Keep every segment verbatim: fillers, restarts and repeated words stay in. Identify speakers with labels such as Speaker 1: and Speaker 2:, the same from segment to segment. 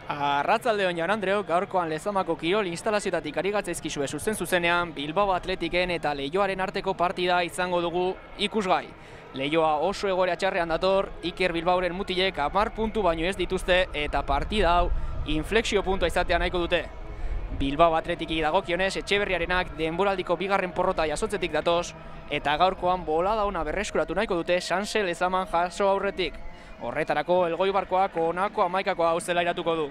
Speaker 1: Arratsaldeon Jan Andreok, gaurkoan Lezamako kirol instalazioetatik ari gatzaizkizue zuzen zuzenean Bilbao Atletiken eta Leioaren arteko partida izango dugu ikusgai. Leioa oso egoera txarrean dator, Iker Bilbaoren mutilek hamar puntu baino ez dituzte eta partida hau inflexio puntua izatea nahiko dute. Bilbao Atletiki dagokionez Etxeberriarenak denboraldiko bigarren porrota jasotzetik datoz eta gaurkoan bolada ona berreskuratu nahiko dute Sanse Lezaman jaso aurretik. Horretarako Elgoibarkoak honako hamaikakoa hau zelairatuko du.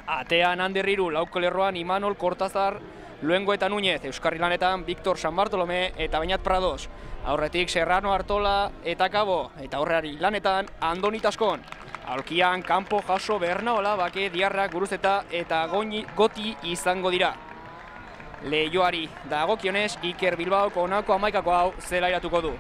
Speaker 1: Atean Ander Hiru, lauko lerroan Imanol Kortazar, Luengo eta Núñez, Euskarri Lanetan Victor San Bartolome eta Beñat Prados. Aurretik Serrano Artola eta Kabo, eta Horreari Lanetan Andoni Taskon. Aulkian kanpo jaso Bernaola, Bake, Diarrak, Guruzeta eta Goñi, Goti izango dira. Leioari dagokionez Iker Bilbaoko honako hamaikako hau zelairatuko du.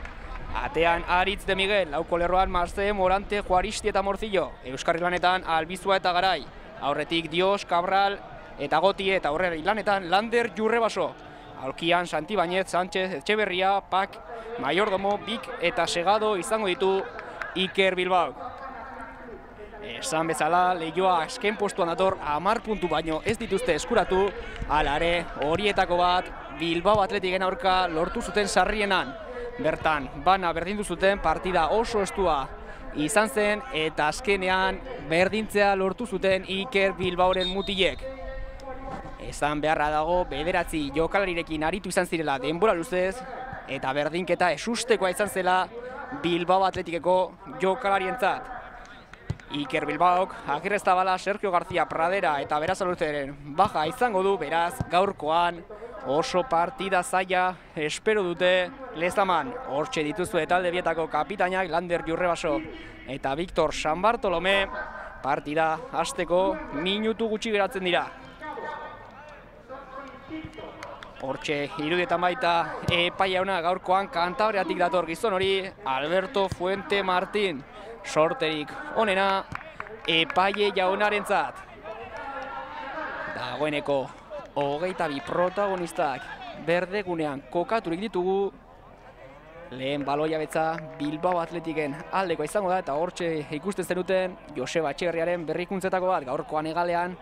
Speaker 1: Atean Aritz de Miguel, lauko lerroan Marze, Morante, Juaristi eta Morcillo, Euskarri Lanetan Albizua eta Garai. Aurretik Dios, Cabral eta Goti eta Horreari Lanetan Lander Jurrebaso. Aulkian Santi Bañez, Sánchez, Etxeberria, Pak, Mayordomo, Bik eta Segado izango ditu Iker Bilbao. Esan bezala, Leioa azken postuan dator hamar puntu baino ez dituzte eskuratu, hala ere horietako bat Bilbao Atletiken aurka lortu zuten sarrienan. Bertan, bana berdindu zuten partida oso estua izan zen eta azkenean berdintzea lortu zuten Iker Bilbaoren mutilek. Esan beharra dago bederatzi jokalarirekin aritu izan zirela denbora luzez eta berdinketa esustekoa izan zela Bilbao Atletikeko jokalarientzat. Iker Bilbaok, Agirrezabala, Sergio García, Pradera eta Berazaluzeren baja izango du, beraz gaurkoan oso partida zaila espero dute Lezaman. Hortxe dituzue talde bietako kapitainak Lander Jurrebaso eta Victor San Bartolome. Partida hasteko minutu gutxi geratzen dira. Hortxe irudietan baita epaiauna gaurkoan Kantabriatik dator gizon hori Alberto Fuente Martín. Sorterik onena epaile jaunarentzat. Dagoeneko hogeita bi protagonistak berdegunean kokaturik ditugu. Lehen baloia betza Bilbao Atletiken aldeko izango da eta hortxe ikusten zenuten Joseba Etxeberriaren berrikuntzetako bat gaurkoan egalean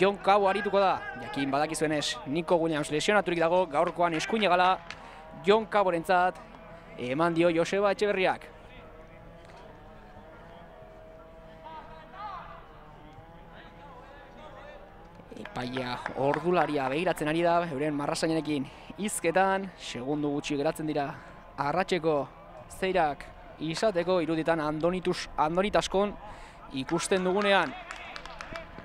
Speaker 1: Jon Kabo arituko da. Jakin badakizuenez Nico Williams lesionaturik dago, gaurkoan eskuin egala Jon Kaborentzat eman dio Joseba Etxeberriak. Epaia ordularia begiratzen ari da, euren marrasainarekin hizketan, segundu gutxi geratzen dira arratseko zeirak izateko iruditan Andonitus, Andonitaskon ikusten dugunean.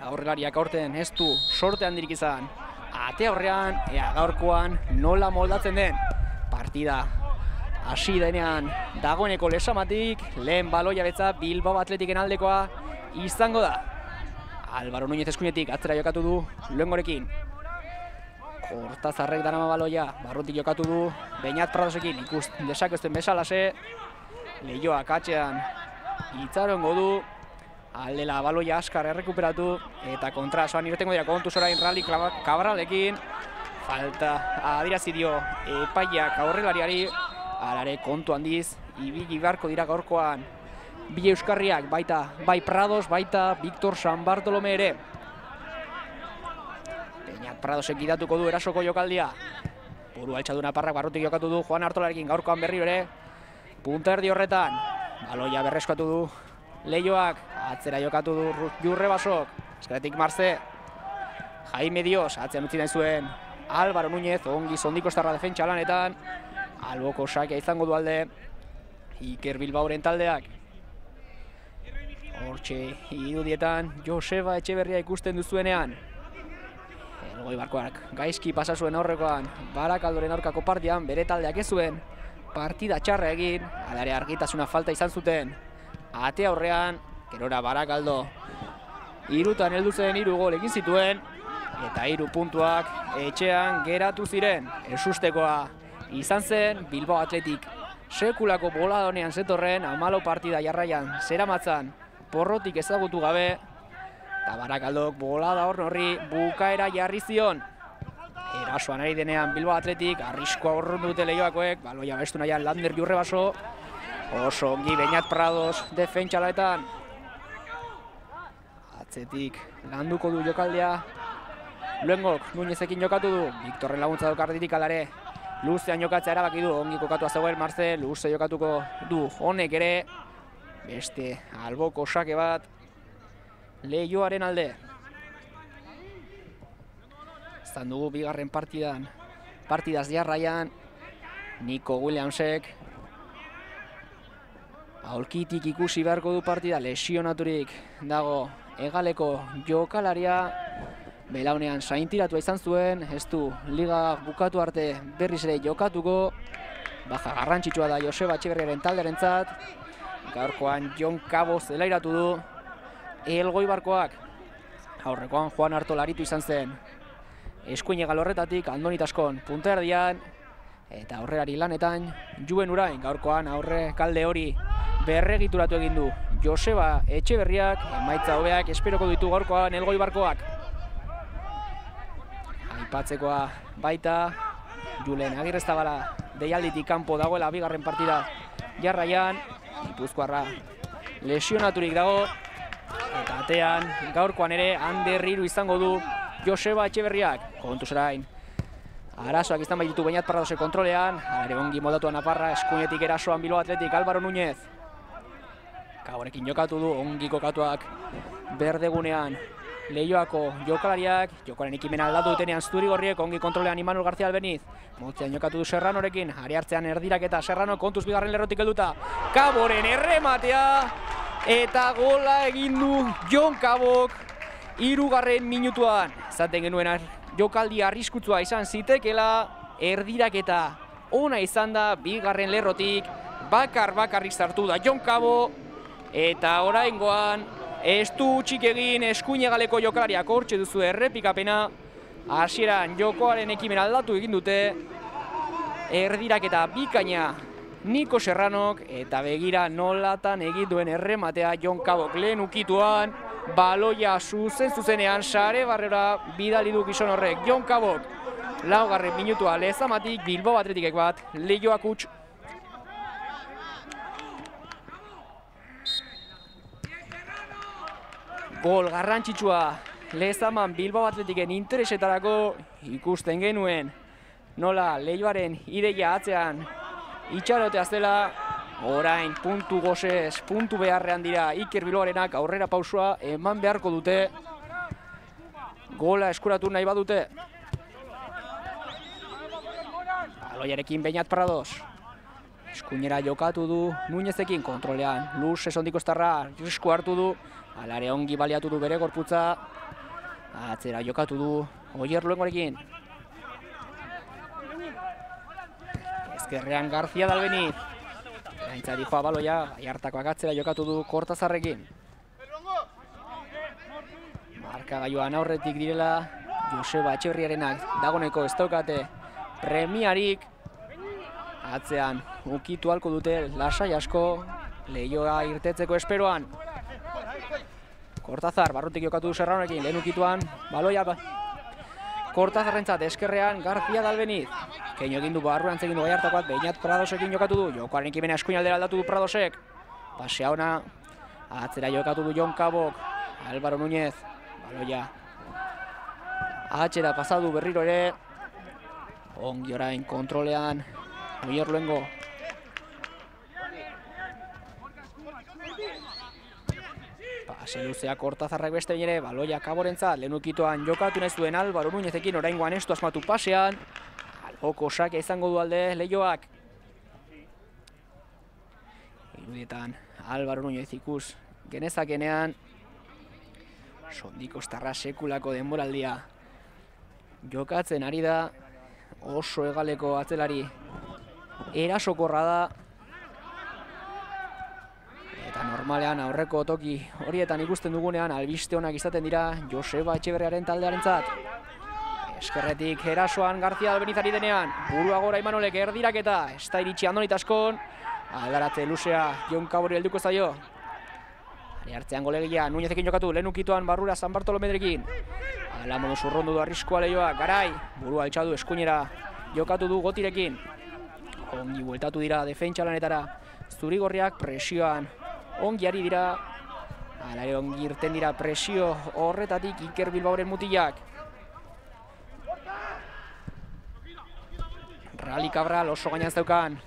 Speaker 1: Aurrelariak aurten ez du sorte handirik izan. Ate aurrean, ea gaurkoan nola moldatzen den. Partida hasi denean dagoeneko Lezamatik, lehen baloia betza Bilbao Atletiken aldekoa izango da. Álvaro Núñez eskuinetik atzera jokatu du Luengorekin. Kortazarrek darama baloia, barrutik jokatu du Beñat Pradosekin, ikus desakezten bezalase. Leioak atxean itzarongo du, aldela baloia askar errekuperatu eta kontrasoan irtengo dira kontuz orain Rally Cabralekin. Falta adirazi dio epaiak aurrelariari, alare kontu handiz ibili beharko dira gaurkoan bi euskarriak, baita bai Prados, baita Victor San Bartolome ere. Beñat Pradosek gidatuko du erasoko jokaldia. Buru altxaduna parrak barrutik jokatu du Juan Artolarekin, gaurkoan berriro ere. Punta erdi horretan, baloia berreskatu du Leioak, atzera jokatu du Jurrebasok, eskeretik Marze. Jaime Dios, atzean utzi nahi zuen Álvaro Núñez, ongi zondiko estarra defentsa lanetan. Alboko sakea izango du alde Iker Bilbaoren taldeak. Hortxe irudietan Joseba Etxeberria ikusten duzuenean. Elgoibarkoak gaizki pasa zuen aurrekoan Barakaldoren aurkako partidan, bere taldeak ez zuen partida txarra egin, alare argitasuna falta izan zuten. Ate aurrean, gerora Barakaldo hirutan heldu zen hiru gol egin zituen eta hiru puntuak etxean geratu ziren. Esustekoa izan zen Bilbao Atletik sekulako boladonean zetorren hamalau partida jarraian zeramatzan porrotik ezagutu gabe, eta Barakaldok bolada horri bukaera jarri zion. Erasoan ari denean Bilbao Atletik, arriskoa horrun dute Leioakoek, baloia bestu nahian Lander Jurrebaso, oso ongi Beñat Prados defentsalaetan. Atzetik landuko du jokaldea. Luengok Nuñezekin jokatu du. Victorren laguntza daukarditik alare. Luzean jokatzea erabaki du. Ongi kokatua zegoen Marcel. Luze jokatuko du. Honek ere. Beste alboko sake bat. Leioaren alde. Zan dugu bigarren partidan. Partidaz jarraian. Nico Williamsek. Aulkitik ikusi beharko du partida. Lesionaturik dago hegaleko jokalaria. Belaunean saintiratua izan zuen, ez du liga bukatu arte berriz ere jokatuko. Baja garrantzitsua da Joseba Etxeberriaren taldearentzat. Gaurkoan Jon Cabo zelairatu du. Elgoibarkoak aurrekoan Juan Artola aritu izan zen. Eskuin egal horretatik Andoni Taskon punta erdian. Eta aurrerari lanetan Juven Urain gaurkoan aurre kalde hori berregituratu egin du Joseba Etxeberriak. Emaitza hobeak esperoko ditu gaurkoan Elgoibarkoak. Aipatzekoa baita Julen Agirrezabala deialditik kanpo dagoela bigarren partida jarraian. Gipuzkoarra lesionaturik dago. Eta atean gaurkoan ere Ander hiru izango du Joseba Etxeberriak. Kontuz orain arazoak izan baititu Beñat Pradose kontrolean. Ere ongi moldatuan Naparra, eskuinetik erasoan Bilbao Athletic Álvaro Núñez. Gabonekin jokatu du, ongi kokatuak berdegunean Leioako jokalariak. Jokoaren ekimena aldatu dutenean Zurigorriek, ongi kontrolean Imanol García Albeniz. Motzean jokatu du Serranorekin, ari hartzean erdirak eta Serrano kontuz bigarren lerrotik helduta. Caboren errematea eta gola egin du Jon Cabok hirugarren minutuan. Zaten genuen jokaldi arriskutsua izan zitekela, erdiraketa ona izan da bigarren lerrotik, bakar bakarrik sartu da Jon Cabo, eta oraingoan ez du utzik egin eskuinegaleko jokalariak. Hortxe duzu errepikapena, hasieran jokoaren ekimen aldatu egin dute, erdiraketa bikaina Nico Serranok, eta begira nolatan egin duen errematea Jon Cabok lehen ukituan, baloia zuzen zuzenean sare barrera bidali du gizon horrek. Jon Cabok laugarren minutua lezamatik, Bilbao Athleticek bat, Leioak huts. Gol garrantzitsua lezaman Bilbao Athleticen interesetarako. Ikusten genuen nola Leioaren ideia atzean itxarotea zela. Orain puntu gozez, puntu beharrean dira Iker Bilbaorenak, aurrera pausua eman beharko dute. Gola eskuratu nahi badute. Baloiarekin Beñat Prados. Eskuinera jokatu du Nuñezekin kontrolean. Luz esondiko estarra risku hartu du. Alare ongi baliatu du bere gorputza. Atzera jokatu du Oier Luengorekin. Ezkerrean García de Albeniz. Gaintza dijoa baloia, Aiartakoak atzera jokatu du Kortazarrekin. Markagailuan aurretik direla Joseba Etxeberriarenak, dagoneko ez daukate premiarik. Atzean ukitu halko dute lasai asko Leioa irtetzeko esperoan. Kortazar, barrutik jokatu du Serranorekin, lehen ukituan baloia Kortazarrentzat eskerrean García de Albeniz. Keino egin du barruan egin du Aiartakoak, Beñat Pradosekin jokatu du. Jokoaren ekimena eskuinaldera aldatu du Pradosek. Pasea ona, atzera jokatu du Jon Cabok, Álvaro Núñez, baloia atzera pasadu berriro ere. Ongi orain kontrolean Oier Luengo. Pase luzea Kortazarrak beste ere, baloia Caborentzat, lehen ukituan jokatu nahi zuen Álvaro Núñezekin, oraingoan estu asmatu pasean. Alboko sakea izango du alde Leioak. Irudietan Álvaro Núñez ikus genezakenean sondiko estarra sekulako denboraldia jokatzen ari da. Oso hegaleko atzelari erasokorra da. Eta normalean aurreko toki horietan ikusten dugunean albiste onak izaten dira Joseba Etxeberriaren taldearentzat. Eskerretik erasoan García Albenizari denean, burua gora Imanolek erdiraketa, ez da iritsi Andoni Taskon, aldaratze luzea Jon Cabori helduko zaio. Ari hartzean golegia, Nuñezekin jokatu, lehen ukituan barrura San Bartolomedrekin. Ala modu zurrondu du arriskua Leioak, garai, burua altxadu eskuinera jokatu du Gotirekin. Ongi bueltatu dira defentsa lanetara, Zurigorriak presioan ongi ari dira. Hala ere ongi irten dira presio horretatik Iker Bilbaoren mutilak. Rally Cabral oso gainan zeukan.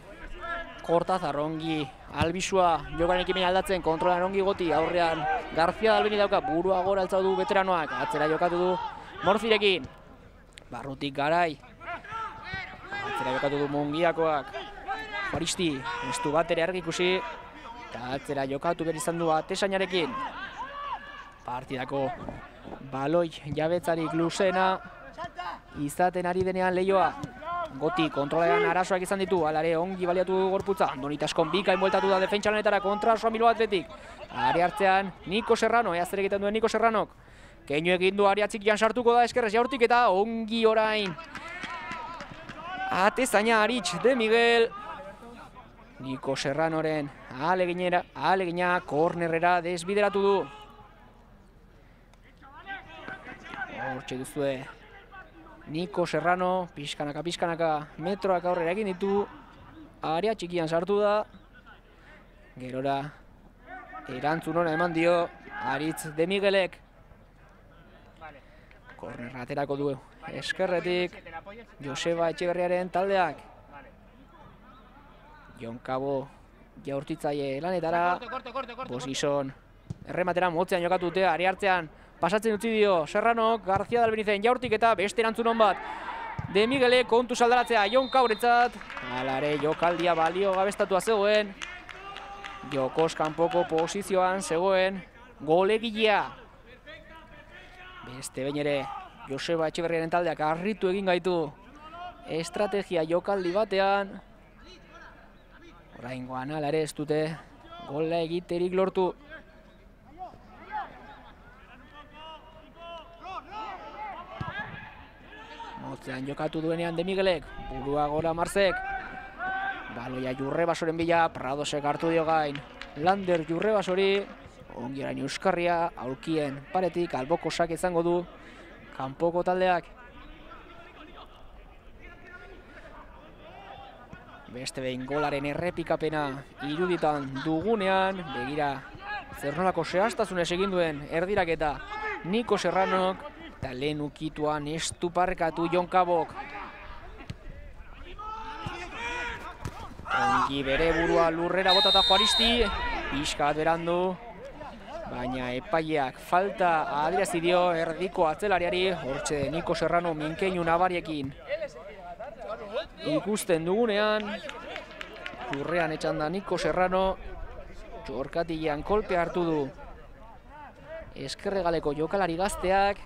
Speaker 1: Kortazar ongi albisua jokaren ekimena aldatzen, kontrolan ongi goti, aurrean García Dalbeni dauka, burua gora altzau du veteranoak, atzera jokatu du Morfirekin. Barrutik Garai. Atzera jokatu du Mungiakoak. Juaristi, ez du bat ere argi ikusi. Eta atzera jokatu behar izan du Atesainarekin. Partidako baloi jabetzarik luzena izaten ari denean Leioa. Goti kontrolean arazoak izan ditu, alare ongi baliatu du gorputza. Andoni Taskon bikain bueltatu da defentsa lanetara kontra osoa Bilbao Athletic. Ari hartzean Niko Serrano, ea zer egiten duen Niko Serranok. Keinu egin du ari atzikian sartuko da eskerrez jaurtik eta ongi orain. Atezaina Aritz de Miguel. Niko Serranoren ahaleginera, ahalegina kornerrera desbideratu du. Hortxe duzue Niko Serrano, pixkanaka, pixkanaka, metroak aurrera egin ditu. Area txikian sartu da. Gerora erantzun ona eman dio Aritz de Miguelek. Kornerra aterako du eskerretik Joseba Etxeberriaren taldeak. Jon Cabo jaurtitzaile lanetara. Bosgizon errematera motzean jokatu dute, ari hartzean pasatzen utzi dio Serranok, García Dalbenizen jaurtik eta beste erantzun hon bat. De Miguelek kontu saldaratzea Jon Cabretzat. Alare jokaldia balio gabestatua zegoen. Jokoz kanpoko posizioan zegoen golegilea. Beste behin ere Joseba Etxeberriaren taldeak harritu egin gaitu estrategia jokaldi batean. Oraingoan hala ere ez dute gola egiterik lortu. Motzean jokatu duenean De Miguelek, burua gora Marzek. Baloia Jurrebasoren bila, Pradosek hartu dio gain. Lander Jurrebasori, ongi orain Euskarria, aulkien paretik, alboko sak izango du kanpoko taldeak. Beste behin golaren errepikapena iruditan dugunean, begira zer nolako zehaztasunez egin duen erdiraketa Niko Serranok, eta lehen ukituan estuparkatu Jon Cabok. Ongi bere burua lurrera botata Juaristi, pixka berandu, baina epaileak falta adierazi dio erdiko atzelariari, hortxe Niko Serrano minkeinu nabariekin ikusten dugunean, lurrean etxan da Niko Serrano, txorkatilean kolpe hartu du eskerregaleko jokalari gazteak.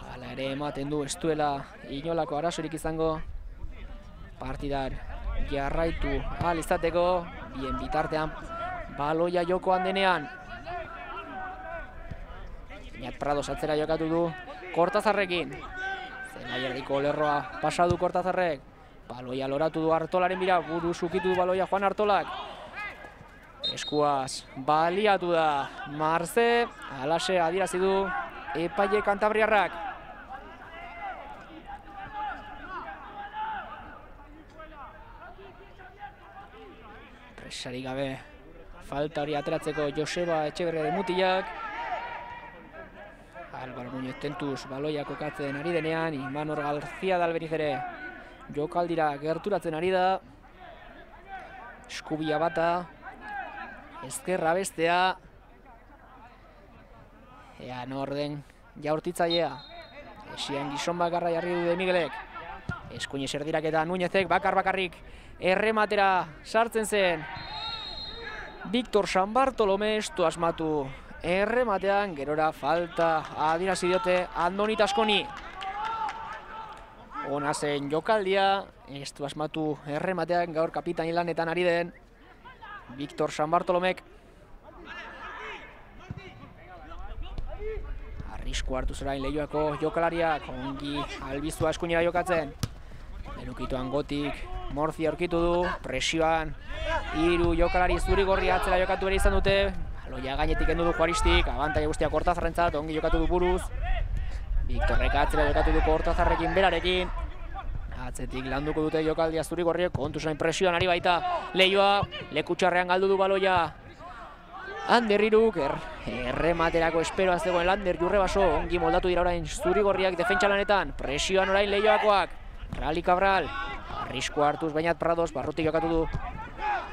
Speaker 1: Hala ere ematen du ez duela inolako arazorik izango partidar jarraitu ahal izateko, bien bitartean baloia jokoan denean. Iñat Prados atzera jokatu du Kortazarrekin. Zelai erdiko lerroa pasadu Kortazarrek. Baloia loratu du Artolaren bira, buru sukitu du baloia Juan Artolak. Eskuaz baliatu da Marze, alase adierazi du epaile kantabriarrak. Presarik gabe falta hori ateratzeko Joseba Etxeberriaren mutilak. Álvaro Muñoz tentuz baloia kokatzen ari denean, Imanol García Dalbeniz ere jokaldira gerturatzen ari da. Eskubia bata, ezkerra bestea. Ea norden jaurtitzailea. Esian gizon bakarra jarri du De Miguelek. Eskuinez erdirak eta Núñezek bakar-bakarrik errematera sartzen zen. Victor San Bartolomé estu asmatu errematean, gerora falta adierazi diote Andoni Taskoni. Ona zen jokaldia, estu asmatu errematean, gaur kapitain lanetan ari den Victor San Bartolomek. Arrisku hartu zerain Leioako jokalariak, ongi albiztua eskuinera jokatzen. Lenukituan Gotik Morzi aurkitu du, presioan hiru jokalari zuri-gorri atzera jokatu ere izan dute. Baloia gainetik kendu du Juaristik, abantaila guztia Kortazarrentzat, ongi jokatu du buruz. Victorrek atzera jokatu du Kortazarrekin berarekin. Atzetik landuko dute jokaldia zuri-gorriek, kontu zain presioan ari baita Leioa, lekutxarrean galdu du baloia Ander Iruk, er, errematerako esperoa zegoen Lander Jurrebaso, ongi moldatu dira orain zurigorriak defentsa lanetan, presioan orain Leioakoak, Rally Cabral, arrisko hartuz Bainat Prados, barrutik jokatu du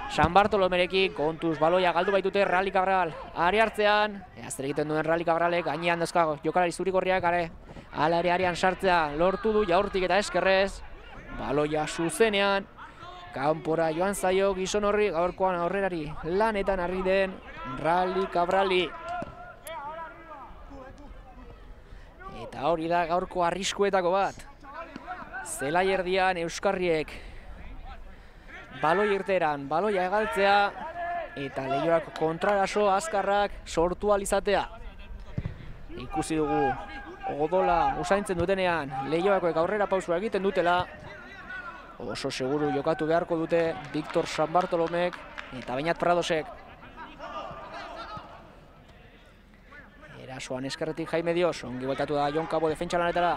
Speaker 1: San Bartolomerekin, kontuz baloia galdu baitute Rally Cabral, are hartzean, zer egiten duen Rally Cabralek, gainean dazka jokalari zurigorriak, are, ala ere arean sartzea, lortu du jaurtik eta eskerrez, baloia zuzenean, kanpora joan zaio gizon horri, gaurkoan aurrerari lanetan harri den Rally Cabrali. Eta hori da gaurko arriskuetako bat. Zelai erdian Euskarriek baloi irteran, baloia egaltzea eta Leioak kontraraso azkarrak sortu alizatea. Ikusi dugu odola usaintzen dutenean Leioakoek aurrera pausua egiten dutela. Oso seguru jokatu beharko dute Victor San Bartolomek eta Bainat Pradosek. Erasoan eskerretik Jaime Dios, ongi bueltatu da Jon Cabo defentsa lanetara.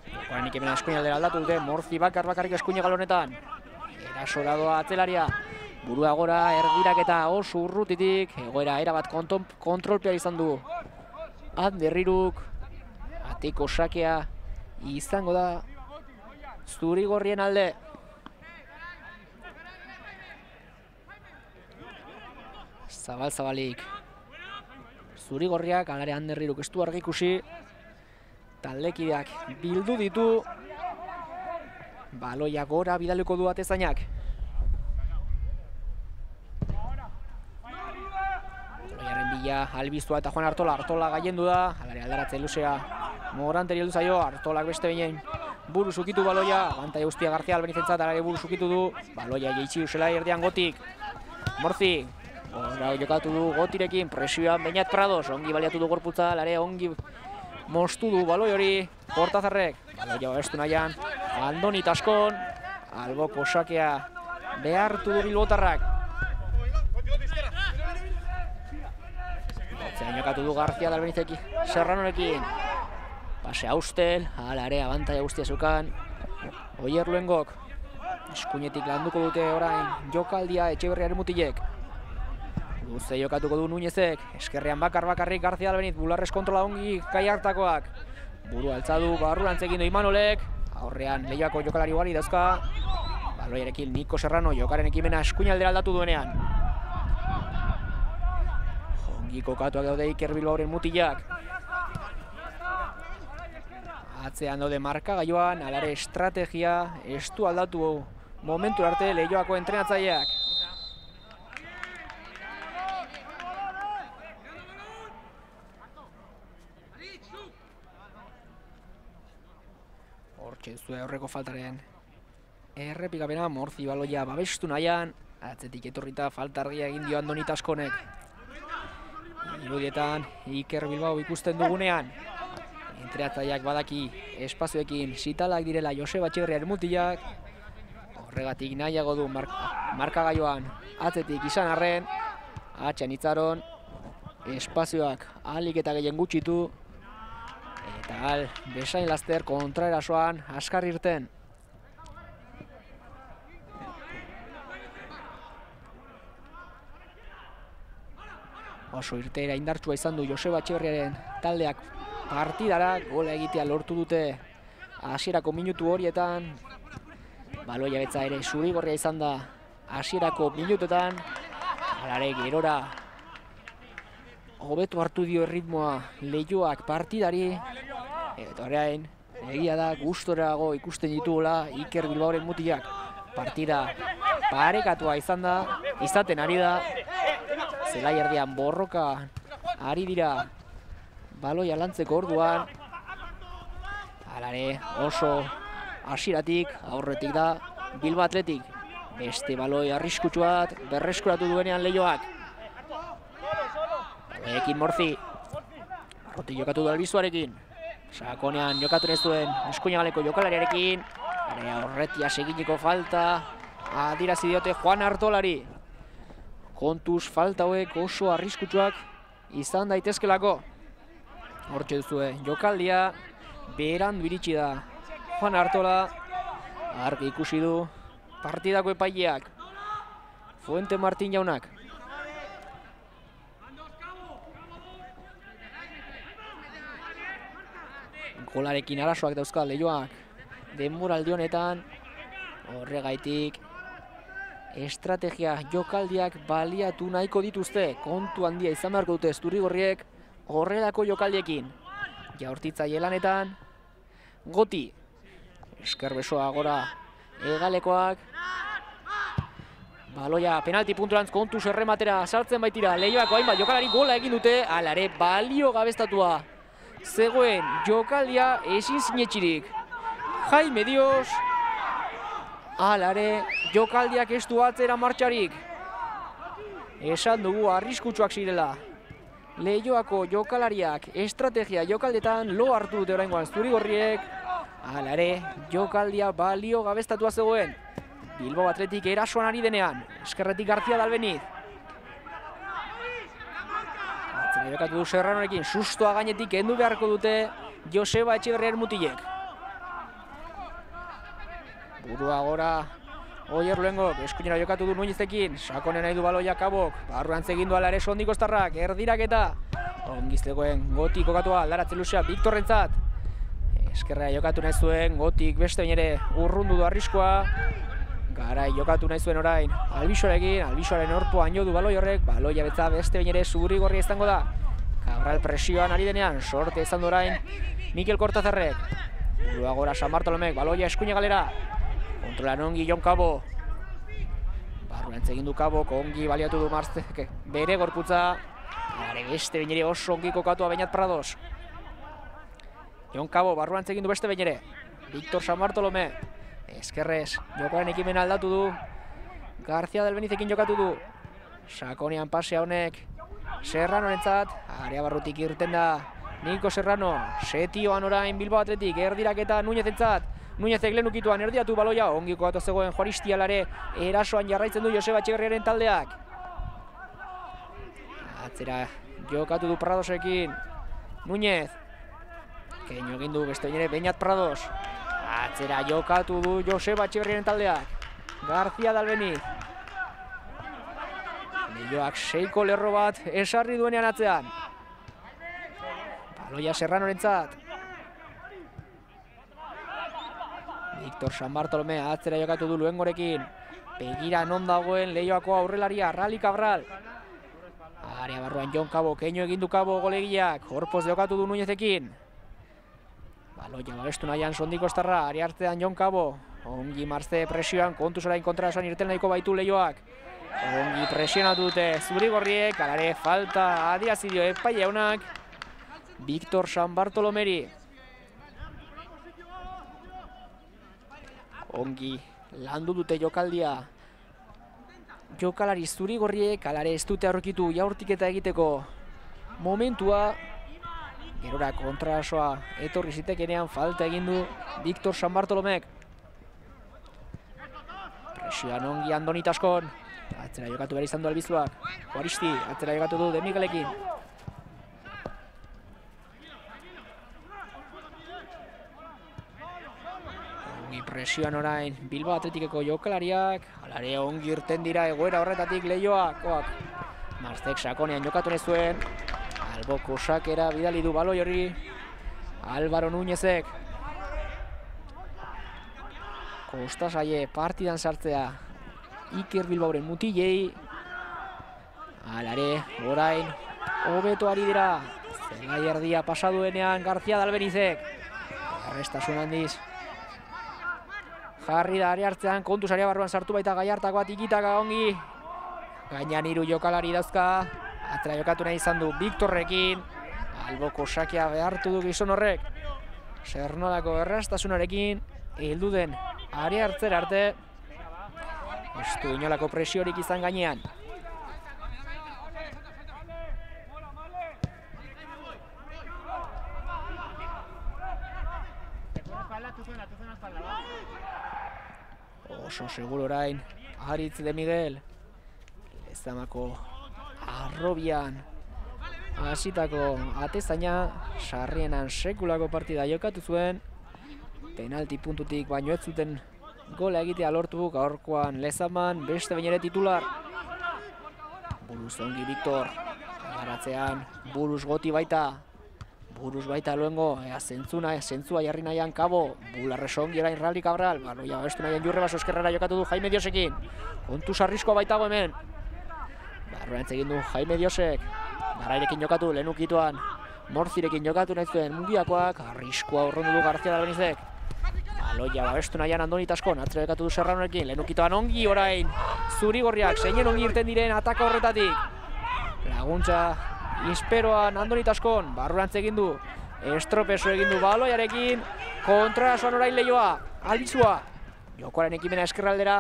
Speaker 1: Jokoanik hemen eskuinaldera aldatu dute, Morzi bakar bakarrik eskuine galonetan. Erasora doa atzelaria, burua gora erdirak eta oso urrutitik, egoera erabat kontrolpea izan du. Ander Iruk, ateko sakea izango da zurigorrien alde. Zabal-zabalik. Zurigorriak, alare Ander Iruk ez du argi ikusi. Taldekideak bildu ditu. Baloia gora bidaliko du atezainak. Baloiaren bila albiztua eta Juan Artola. Artola gaiendu da. Alare aldaratze luzea. Moranteri heldu zaio. Artolak beste behin buru zukitu baloia. Abantai guztia García Albenizentzat alare buru zukitu du. Baloia jeitsi usela erdian Gotik. Morzi. Ora jokatu du Gotirekin, presioan Bainat Prados, ongi baliatu du gorputza, alare ongi mostu du baloi hori Kortazarrek. Baloia babestu nahian, Andoni Taskon, alboko sakea behartu du bilbotarrak. Botzean jokatu du García Albenizekin, Serranorekin. Pase Austel, alare abantaia guztia zukan. Oier Luengok, eskuinetik landuko dute orain jokaldia Etxeberriaren mutilek. Luze jokatuko du Nuñezek, eskerrean bakar-bakarrik García Albeniz, bularrez kontrola ongi kai hartakoak. Buru altzadu, barrurantzekin du Imanolek, aurrean Leioako jokalari ugari dauzka. Baloiarekin Niko Serrano, jokaren ekimena eskuinaldera aldatu duenean. Ongi kokatuak daude Iker Bilbaoren mutilak. Atzean daude markagailuan, alare estrategia, ez du aldatu momentu arte Leioako entrenatzaileak. Hortxe zuen aurreko faltaren errepikapena, Morzi baloia babestu nahian, atzetik etorrita falta argia egin dio Andoni Taskonek. Irudietan Iker Bilbao ikusten dugunean, entrenatzaileak badaki espazioekin sitalak direla Joseba Etxeberriaren mutilak, horregatik nahiago du mar markagailuan atzetik izan arren, atxean itzaron, espazioak ahalik eta gehien gutxitu, eta al, besain laster kontraerasoan askar irten. Oso irteera indartsua izan du Joseba Etxeberriaren taldeak partidara, gola egitea lortu dute hasierako minutu horietan. Baloia betza ere zurigorria izan da hasierako minutuetan. Alare gerora hobetu hartu dio erritmoa Leioak partidari. Eta orain, egia da gustorago ikusten dituela Iker Bilbaoren mutilak. Partida parekatua izan da, izaten ari da. Zelai erdian borroka ari dira baloia lantzeko orduan. Alare oso hasieratik aurretik da Bilbao Athletic. Beste baloi arriskutsu bat berreskuratu duenean Leioak. Baloiekin Morzi. Arrotik jokatu du Albizuarekin. Sakonean jokatu ez duen eskuinagaleko jokalariarekin. Horretia seginiko falta adirazi diote Juan Artolari. Kontuz falta hauek oso arriskutsuak izan daitezkelako. Hortxe duzue jokaldia berandu iritsi da Juan Artola. Argi ikusi du partidako epaileak Fuente Martin jaunak. Golarekin arazoak dauzka Leioak denboraldi honetan. Horregaitik estrategia jokaldiak baliatu nahiko dituzte. Kontu handia izan beharko dute zuri-gorriek horrelako jokaldiekin. Jaurtitzaile lanetan Goti. Esker besoa gora hegalekoak. Baloia penalti punturantz kontu zerrematera sartzen baitira. Leioako hainbat jokalari gola egin dute. Alare balio gabestatua zegoen jokaldia ezin sinetxirik. Jaime Dios. Alare jokaldiak ez du atzera martxarik. Esan dugu arriskutsuak zirela. Leioako jokalariak estrategia jokaldetan lo hartu dute oraingoan zuri-gorriek. Alare jokaldia balio gabestatua zegoen. Bilbao Athletic erasoan ari denean. Eskerretik García Dalbeniz. Atzera jokatu du Serranorekin. Sustoa gainetik kendu beharko dute Joseba Etxeberriaren mutilek. Burua gora Oier Luengok. Eskuinera jokatu du Nuñezekin. Sakonen nahi du baloia Kabok. Barruan zegin du alare sondiko estarrak. Erdiraketa. Ongiztegoen Gotik kokatua aldaratzen luzea Viktorrentzat. Eskerra jokatu nahi zuen Gotik beste bain ere urrundu du arriskoa. Garai jokatu nahi zuen orain Albixorekin, Albixoaren orpoan jo du baloi horrek, baloia betza beste bain ere zuri-gorria izango da. Cabral presioan ari denean, sorte izan du orain Mikel Kortazarrek. Burua gora San Bartolomek, baloia eskuine galera. Kontrolan ongi Jon Cabo. Barruan egin du Cabo, ongi baliatu du Marzek bere gorputza. Gare beste bain ere oso ongi kokatua Beñat Prados. Jon Cabo, barruan egin du beste bain ere. Victor San Bartolome. Eskerrez, jokaren ekimen aldatu du. García Dalbenizekin jokatu du. Sakonean pasea honek Serranorentzat. Area barrutik irten da Niko Serrano. Setioan orain Bilbao Athletic. Erdiraketa Nuñezentzat. Nuñezek lehen ukituan erdiatu baloia. Ongi kokatu zegoen Juaristialare. Erasoan jarraitzen du Joseba Etxeberriaren taldeak. Atzera jokatu du Pradosekin. Nuñez. Keino egin du beste ere Beñat Prados. Atzera jokatu du Joseba Etxeberriaren taldeak. García Dalbeniz. Leioak seiko lerro bat esarri duenean atzean. Baloia Serranorentzat. Victor San Bartolome atzera jokatu du Luengorekin. Begira non dagoen Leioako aurrelaria Rally Cabral. Area barruan Jon Cabo, keino egin du Cabo golegiak. Horpoz jokatu du Nuñezekin. Baloia babestu nahian sondiko estarra, ari hartzean Jon Cabo. Ongi Marze presioan, kontuz orain kontra esan irten nahiko baitu Leioak. Ongi presionatu dute zuri-gorriek, alare falta adierazi epai jaunak Victor San Bartolomeri. Ongi landu dute jokaldia. Jokalari zuri-gorriek, alare ez dute aurkitu jaurtiketa egiteko momentua. Gerora kontrasoa etorri zitekenean falta egin du Victor San Bartolomek. Presioan ongi Andoni Taskon. Atzera jokatu behar izan du Albizuak. Juaristi, atzera jokatu du De Miguelekin. Ongi presioan orain Bilbao Athleticeko jokalariak. Alare ongi irten dira egoera horretatik Leioakoak. Marzek sakonean jokatu nahi zuen. Alboko sakera bidali du baloi hori Álvaro Núñezek. Kostasaie partidan sartzea Iker Bilbaoren mutilei. Alare, orain hobeto ari dira. Zelai erdia pasaduenean García Dalbenizek. Arrestasun handiz jarri da ari hartzean, kontuz area barruan sartu baita Gallartakoa tikitaka ongi. Gainan hiru jokalari dauzka. Atzera jokatu nahi izan du Victorrekin. Alboko sakea behartu du gizon horrek. Sernolako errastasunarekin heldu den ari hartzera arte. Ez du inolako presiorik izan gainean. Oso seguro orain Aritz de Miguel. Lezamako arrobian hasitako atezaina sarrienan sekulako partida jokatu zuen. Penalti puntutik baino ez zuten gola egitea lortu gaurkoan Lezaman beste bain ere titular. Buruz ongi Victor. Garatzean Buruz Goti baita. buruz baita luengo, ea zentzuna, zentzua jarri nahian Kabo, bularrez ongi orain Rally Cabral, baloia babestu nahian Jurrebaso eskerrera jokatu du Jaime Diosekin, kontu sarrizkoa baitago hemen, barruan egin du Jaime Diosek, garairekin jokatu, lehen ukituan, Morzirekin jokatu nahi zuen Mungiakoak, arriskoa urrundu du García Dalbenizek, baloia babestu nahian Andoni Taskon, atzera jokatu du Serranorekin, lehen ukituan ongi orain, Zurigorriak, zeinen ongi irten diren ataka horretatik, laguntza, Insperoan Andoni Taskon, barrurantz egin du, estropeso egin du baloiarekin, kontrasoan orain Leioa, Albizua, jokoaren ekimena eskerraldera,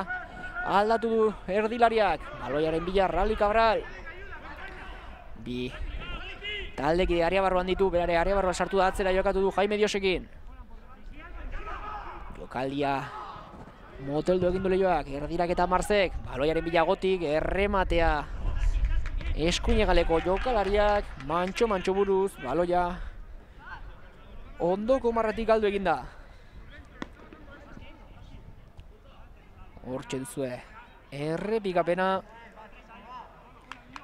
Speaker 1: aldatu du erdilariak, baloiaren bila Rally Cabral, bi, taldeki area barruan ditu, berare area barruan sartu da atzera jokatu du Jaime Diosekin, jokaldia, moteldu egin du Leioak, erdirak eta Marzek, baloiaren bila Gotik, errematea, eskuinegaleko jokalariak, mantxo-mantxo buruz, baloia, ondoko marratik galdu eginda. Hortxe duzue, errepikapena,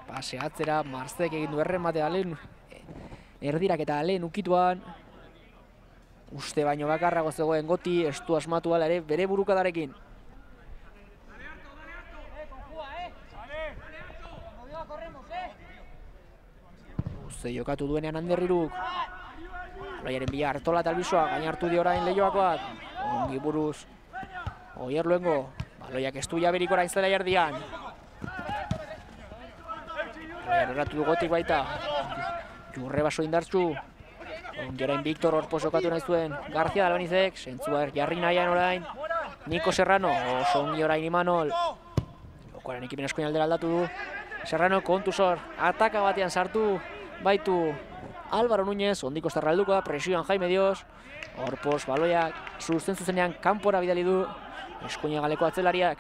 Speaker 1: pase atzera, Marzek egin du errematea lehen, erdirak eta lehen ukituan, uste baino bakarrago zegoen Goti, estu asmatu ala ere bere burukadarekin. Uste jokatu duenean Anderriruk, baloiaren bila Artola eta Albizua, gain hartu dio orain Leioakoak, ongi buruz, Oier Luengo, baloiak estu jaberik orain zela jardian. Baloian erratu du Gotik baita, Jurrebaso indartzu, ongi orain Victor Orpoz jokatu nahi zuen, García Dalbenizek, sentzua jarri nahian orain, Niko Serrano, oso ongi orain Imanol, jokoaren ekimen eskoin aldera aldatu du, Serrano kontu zor, ataka batean sartu, baitu Álvaro Núñez, ondiko estarra helduko da, presioan Jaime Dios, Orpoz baloiak zuzen zuzenean kanpora bidali du, eskuina galeko atzelariak.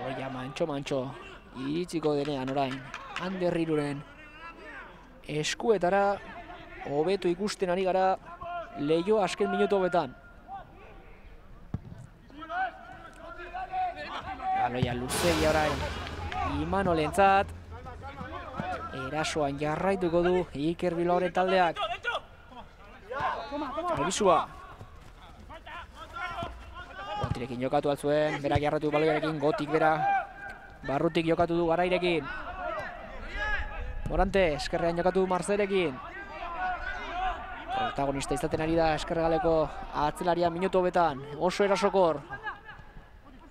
Speaker 1: Baloia mantxo-mantxo, iritsiko denean orain, Anderriruren eskuetara, hobeto ikusten ari gara, Leio azken minutu hobetan. Baloia luzegia orain, Imanolentzat, erasoan jarraituko du Iker Bilbaoren taldeak. Albizua. Gotirekin jokatu altzuen, berak jarratu baloiarekin, Gotik bera, barrutik jokatu du Garairekin. Morante, eskerrean jokatu du Marzerekin. Protagonista izaten ari da eskerregaleko atzelaria minutu hobetan, oso erasokor.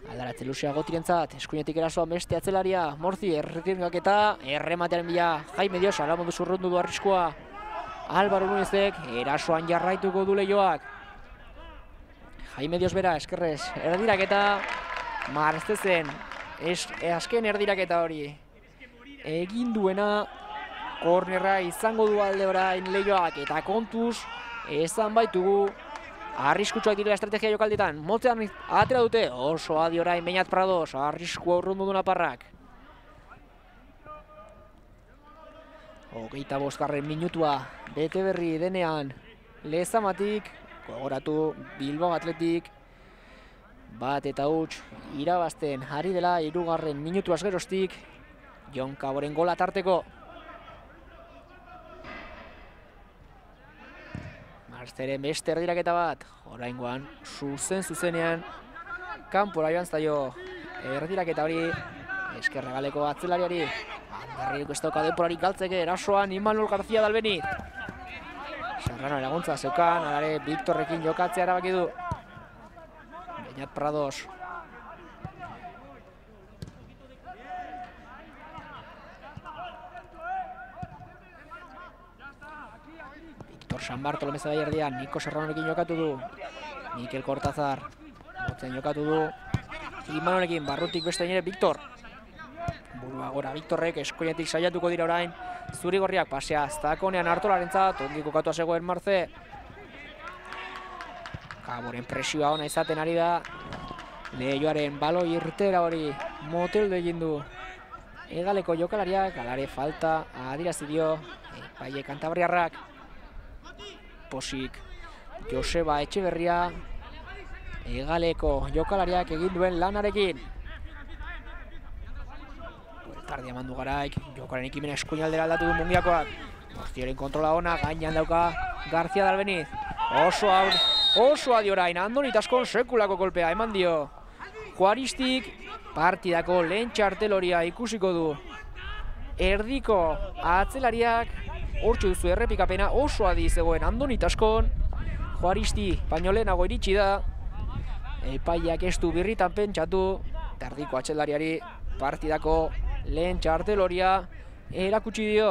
Speaker 1: Aldaratze luzea Gotirentzat, eskuinetik erasoan beste atzelaria, Morzi erretirgak eta errematearen bila Jaime Dios, alamondu zurrundu du arriskoa. Álvaro Núñezek erasoan jarraituko du Leioak. Jaime Dios bera, eskerrez, erdiraketa, Marzezen, es, azken erdiraketa hori. Egin duena, kornerra izango du alde orain Leioak, eta kontuz, ezan baitugu, arriskutsuak direla estrategia jokaldietan, motzean atera dute, oso adi orain Beñat Prados, arriskua urrundu du naparrak. Hogeita bosgarren minutua, bete berri denean, Lezamatik, gogoratu Bilbao Atletik, bat eta huts, irabazten ari dela hirugarren minutuaz geroztik, Jon Kaboren gola tarteko. Marzeren beste erdiraketa bat, oraingoan zuzen zuzenean, kanpora joan zaio erdiraketa hori, eskerregaleko atzelariari, Anderriruk ez dauka denporarik galtzeke, erasoan Imanol García Dalbeniz. Serrano laguntza zeukan, alare Victorrekin jokatzea erabaki du. Beñat Prados. Victor San Bartolomé zela erdian, Niko Serranorekin jokatu du. Mikel Kortazar, motzen jokatu du. Imanolekin, barrutik beste nire Victor. Burua gora, Victorrek eskoinetik saiatuko dira orain. Zurigorriak pasea Zakonean Artolarentzat, ongi kokatua zegoen Marze. Kaboren presioa ona izaten ari da. Leioaren baloi irtera hori moteldu egin du. Egaleko jokalariak, alare falta adirazi dio. Epaile kantabriarrak. Posik, Joseba Etxeberria. Egaleko jokalariak egin duen lanarekin. Tardia mandu Garaik, jokaren ikimena eskuinaldera aldatu du Mungiakoak. Garziaren kontrola ona, gainean dauka Garzia Dalbeniz. Oso aur, oso adi orain, Andoni Taskon sekulako kolpea eman dio. Juaristik partidako lehen txarteloria ikusiko du. Erdiko atzelariak, hortxe duzu errepikapena oso adi zegoen Andoni Taskon. Juaristi baino lehenago iritsi da. Epaiak ez du birritan pentsatu. Erdiko atzelariari partidako lehen txarteloria erakutsi dio.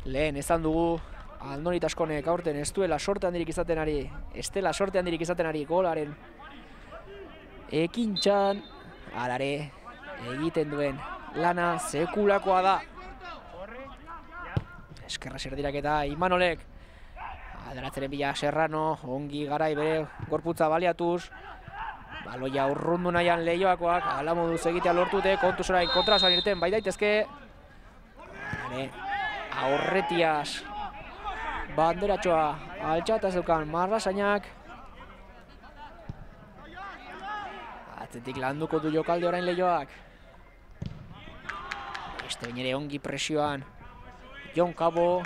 Speaker 1: Lehen ezan dugu Andoni Taskonek aurten ez duela sorte handirik izaten ari, ez dela sorte handirik izaten ari golaren ekintxan, alare egiten duen lana sekulakoa da. Eskerra serdirak eta Imanolek alderatzeren bila Serrano, ongi Garai bere gorputza baliatuz. Baloia urrundu nahian Leioakoak, ala moduz egitea lortute, kontuz orain kontrasan irten bai daitezke. Aurretiaz banderatxoa altxataz dukan Marrasainak. Atzetik landuko du jokalde orain Leioak. Beste bainere ongi presioan Jon Cabo.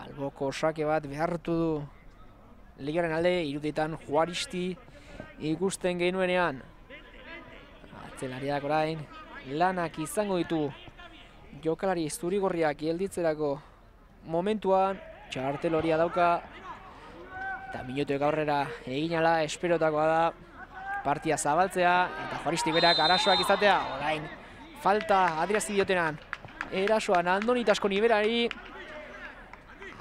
Speaker 1: Alboko sake bat behartu du Leioaren alde, iruditan Juaristi ikusten genuenean. Atzelariak orain lanak izango ditu jokalari zurigorriak gelditzerako momentuan. Txarteloria dauka eta minutuek aurrera egin ala esperotakoa da partia zabaltzea eta Juaristi berak arazoak izatea. Orain falta adierazi diotenan erasoan Andoni Taskon iberari.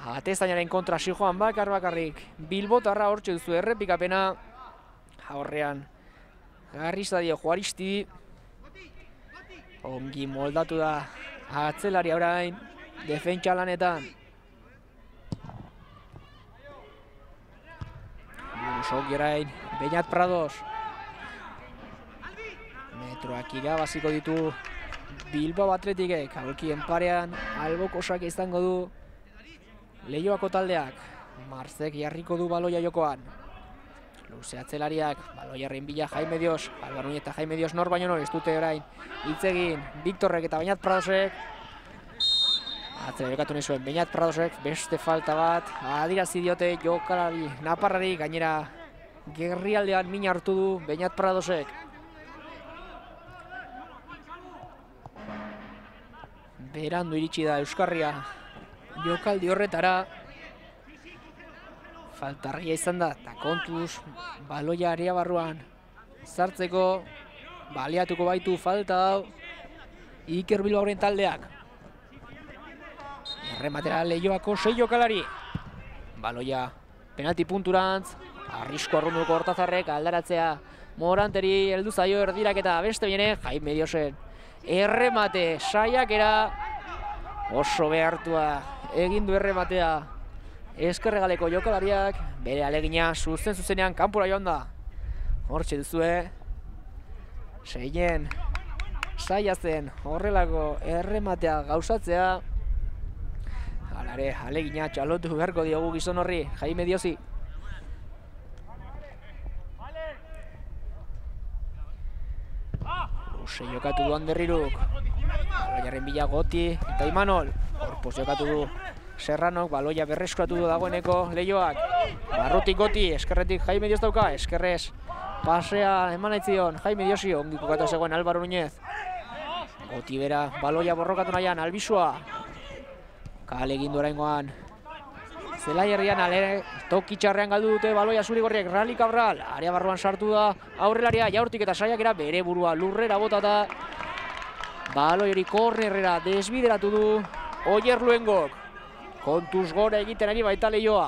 Speaker 1: Atezainaren kontra zijoan bakar bakarrik Bilbotarra, hortxe duzu errepikapena. Aurrean garri zadio Juaristi. Ongi moldatu da atzelari orain defentsa lanetan. Busoki orain Beñat Prados. Metroak irabaziko ditu Bilbao Atletikek. Aulkien parean albokosak izango du Leioako taldeak. Marzek jarriko du baloia jokoan. Luze atzelariak, baloiarren bila Jaime Dios. Alba Núñez eta Jaime Dios nor baino nor ez dute orain hitz egin. Victorrek eta Beñat Pradosek. Atzera jokatu nahi zuen Beñat Pradosek, beste falta bat adirazi diote jokalari naparrari. Gainera gerrialdean min hartu du Beñat Pradosek. Berandu iritsi da Euskarria jokaldi horretara. Faltarria izan da, eta kontuz baloia area barruan sartzeko baliatuko baitu falta hau Iker Bilbaoren taldeak. Errematera Leioako sei jokalari. Baloia penalti punturantz, arrisko arrunduko Hortazarrek aldaratzea Moranteri heldu zaio erdiraketa. Beste bine Jaime Diosen erremate saiakera oso behartua egin du errematea Ezkerregaleko jokalariak. Bere alegina zuzen zuzenean kanpora joan da. Hortxe duzue seien saia zen horrelako errematea gauzatzea. Halare alegina txalotu beharko diogu gizon horri Jaime Diosi. Luze jokatu du Anderriruk. Baloiaren bila Goti eta Imanol. Horpoz jokatu du Serranok, baloia berreskuratu du dagoeneko Leioak. Barrutik Goti, eskerretik Jaime Dios dauka, eskerrez pasea eman aitzion Jaime Diosi, ongi kokatu zegoen Álvaro Núñez. Goti bera baloia borrokatu nahian, Albizua. Kale egin du oraingoan Zelai herrian ale toki txarrean galdu dute baloia zurigorriek. Rally Cabral, area barruan sartu da aurrelaria, jaurtik eta saiakera bere burua lurrera botata. Baloi hori kornerrera desbideratu du Oier Luengok. Kontuz gora egiten ari baita Leioa.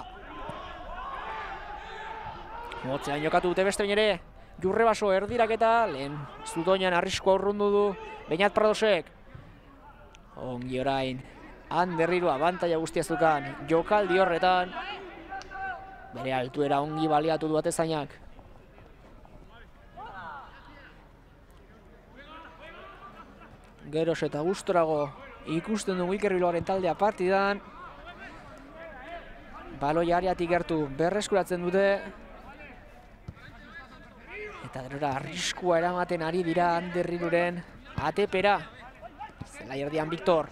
Speaker 1: Motzean jokatu dute beste bainere Jurrebaso erdiraketa, lehen Zutoinan arriskoa urrundu du Beñat Pradosek. Ongi orain Anderriru abantaia guztiaz dukan jokaldi horretan. Bere altuera ongi baliatu du atezainak. Geroz eta gustorago ikusten dugu Iker Bilbaoren taldea partidan. Baloia areatik gertu berreskuratzen dute. Eta gerora arriskua eramaten ari dira Ander Iruren atepera. Zelai erdian Victor.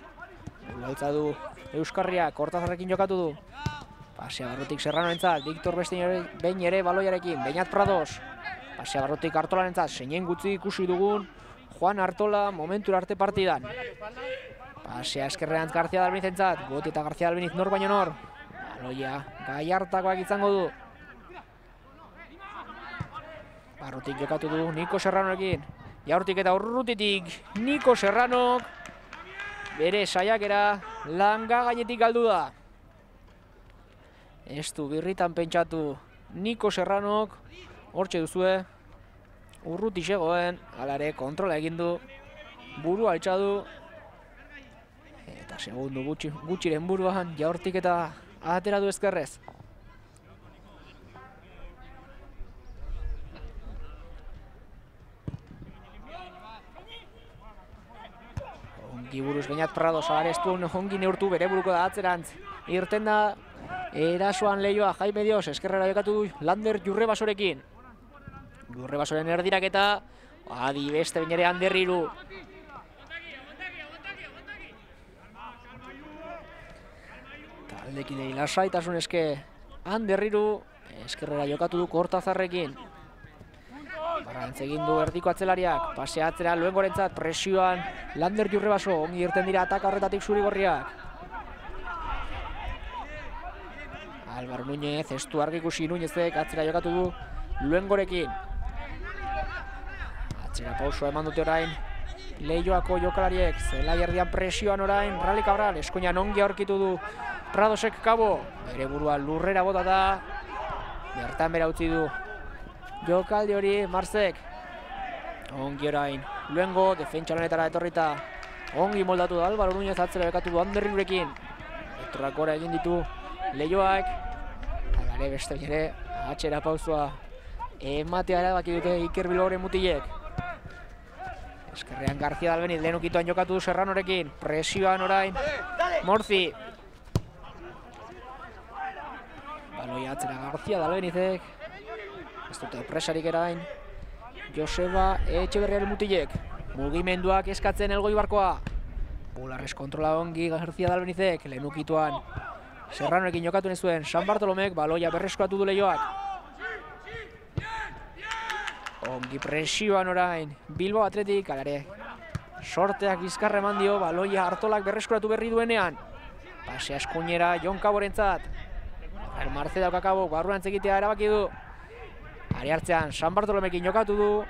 Speaker 1: Gaitza du Euskarriak, Kortazarrekin jokatu du. Pasea barrutik Serranoentzat, Victor beste behin ere baloiarekin, Beñat Prados. Pasea barrutik Artolarentzat, seinen gutxi ikusi dugun Juan Artola momentura arte partidan. Pasea eskerrean García Dalbenizentzat, Goti eta García Dalbeniz nor baino nor. Baloia Gallartakoak izango du. Barrutik jokatu du Niko Serranoekin. Jaurtik eta urrutitik Niko Serranok bere saiakera langa gainetik galdu da. Ez du birritan pentsatu Niko Serranok, hortxe duzue, urruti zegoen, alare kontrola egin du, buru altxa du, eta segundu gutxi, gutxiren buruan Jaurtik eta atera du ezkerrez. Ongi buruz Beñat Prados, agareztun ongi neurtu bere buruko da atzerantz. Irten da erasoan Leioa, Jaime Dios, eskerrera jokatu du Lander Jurrebasorekin. Jurrebasoren erdiraketa, adi beste bain ere Ander Iru. Taldekidei lasaitasun eske Ander Iru, eskerrera jokatu du Kortazarrekin. Barrantz egin du erdiko atzelariak, pasea atzera Luengorentzat, presioan Lander Jurrebaso, ongi irten dira ataka horretatik Zurigorriak. Álvaro Núñez, ez du argi ikusi Núñezek, atzera jokatu du Luengorekin. Atzera pausua eman dute orain Leioako jokalariek, zelai erdian presioan orain Rally Cabral, eskuinan ongi aurkitu du Pradosek Kabo, bere burua lurrera bota da, bertan bera utzi du jokaldi hori Marzek. Ongi orain Luengo, defentsa lanetara etorrita, ongi moldatu da Álvaro Núñez, atzera jokatu du Ander Irurekin. Etorrakora egin ditu Leioak, alare beste ere atxera pausua ematea erabaki dute Iker Bilbaoren mutilek. Eskerrean García Dalbeniz, lehen ukituan jokatu du Serranorekin, presioan orain Morzi. Baloia atzera García Dalbenizek, ez dute presarik erain Joseba Etxeberriaren mutilek. Mugimenduak eskatzen Elgoi Barkoa. Bularrez kontrola ongi García Dalbenizek, lehen ukituan Serranoekin jokatu nezuen San Bartolomek, baloia berreskuratu du Leioak. Ongi presioan orain Bilbao Athletic, alare sorteak bizkarra eman dio, baloia Artolak berreskuratu berri duenean. Pasea eskuinera Jon Kaborentzat. Marce daukakabo, barruan egitea erabaki du. Ari hartzean San Bartolomekin jokatu du.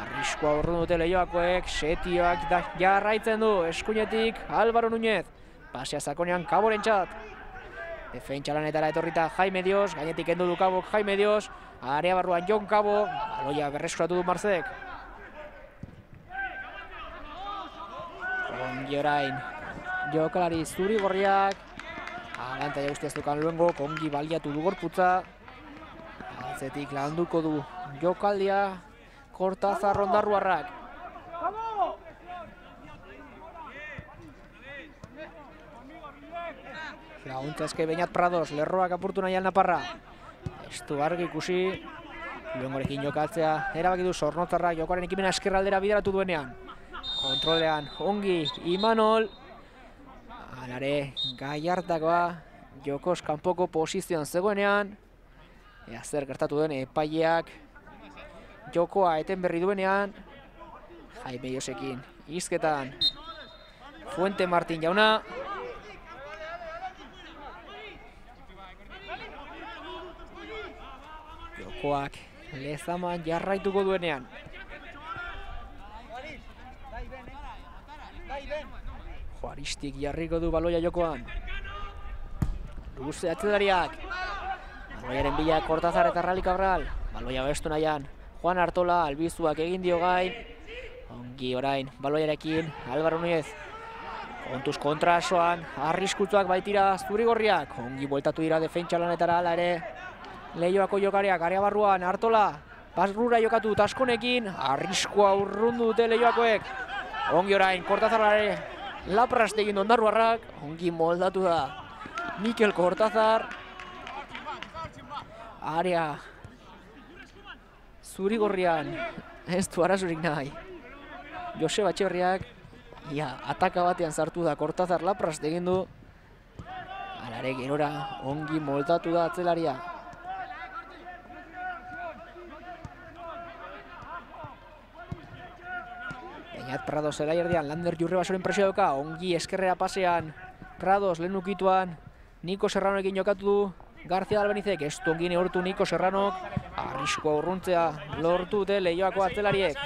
Speaker 1: Arriskua urrun dute Leioakoek, setioak jarraitzen du, eskuinetik Álvaro Núñez. Pasea sakonean Kaborentzat. Defentsa lanetara etorrita Jaime Dios, gainetik kendu du Kabok Jaime Dios, area barruan Jon Kabo, baloia berreskuratu du Marzek. Ongi orain jokalari Zurigorriak, alantaia guztiaz dukan Luengo, ongi baliatu du gorputza, atzetik landuko du jokaldia Kortazar ondarruarrak. Laguntza eske Beñat Prados, lerroak apurtu nahi Naparra. Ez du argi ikusi, Luengorekin jokatzea erabaki du Zornotzarrak jokoaren ekimena eskerraldera bideratu duenean. Kontrolean ongi Imanol, alare Gallartakoa, jokoz kanpoko posizioan zegoenean. Ea zer gertatu den epaileak jokoa eten berri duenean. Jaime Diosekin hizketan Fuente Martin jauna. Jokoak Lezaman jarraituko duenean. Juaristik jarriko du baloia jokoan. Luze atzelariak. Baloiaren bila Kortazar eta Rally Cabral. Baloia bestu nahian Juan Artola, albizuak egin dio gain. Ongi orain baloiarekin Álvaro Núñez. Kontuz kontrasoan, arriskutsuak baitira Zurigorriak. Ongi bueltatu dira defentsa lanetara ala ere. Leioako jokariak, area barruan, Artola, pasrura jokatu Taskonekin, arriskua urrundu dute Leioakoek. Ongi orain, Kortazarrare, laprast egin ondarruarrak, ongi moldatu da Mikel Kortazar. Area zuri-gorrian ez du arazorik nahi. Joseba Etxeberriak ia ataka batean sartu da, Kortazar laprast egin du. Alare gerora ongi moltatu da atzelaria. Beñat Prados zelai erdian, Lander Jurrebasoren presio dauka, ongi eskerrera pasean. Prados lehen ukituan, Niko Serranoekin jokatu du. García Albenizek ez du ongi neurtu Niko Serranok. Arriskoa urruntzea lortu dute Leioako atzelariek.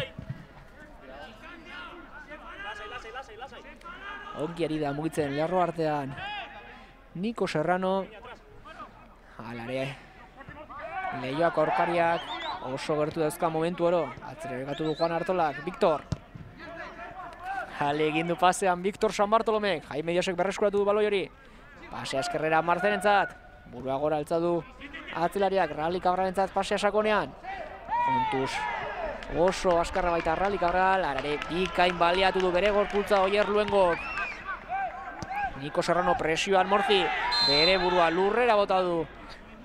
Speaker 1: Ongi ari da mugitzen lerro artean Niko Serrano. Alare Leioako aurkariak oso gertu dauzka momentu oro. Atzera begatu du Juan Artolak, Victor. Jale egin du pasean Victor San Bartolomek. Jaime Diosek berreskuratu du baloi hori. Pasea eskerrera Marzenentzat. Burua gora altza du atzelariak, Rally Cabralentzat pasea sakonean. Kontuz oso askarra baita Rally Cabral. Arare bikain baliatu du bere gorputza Oier Luengok. Niko Serrano presioan Morzi. Bere burua lurrera bota du.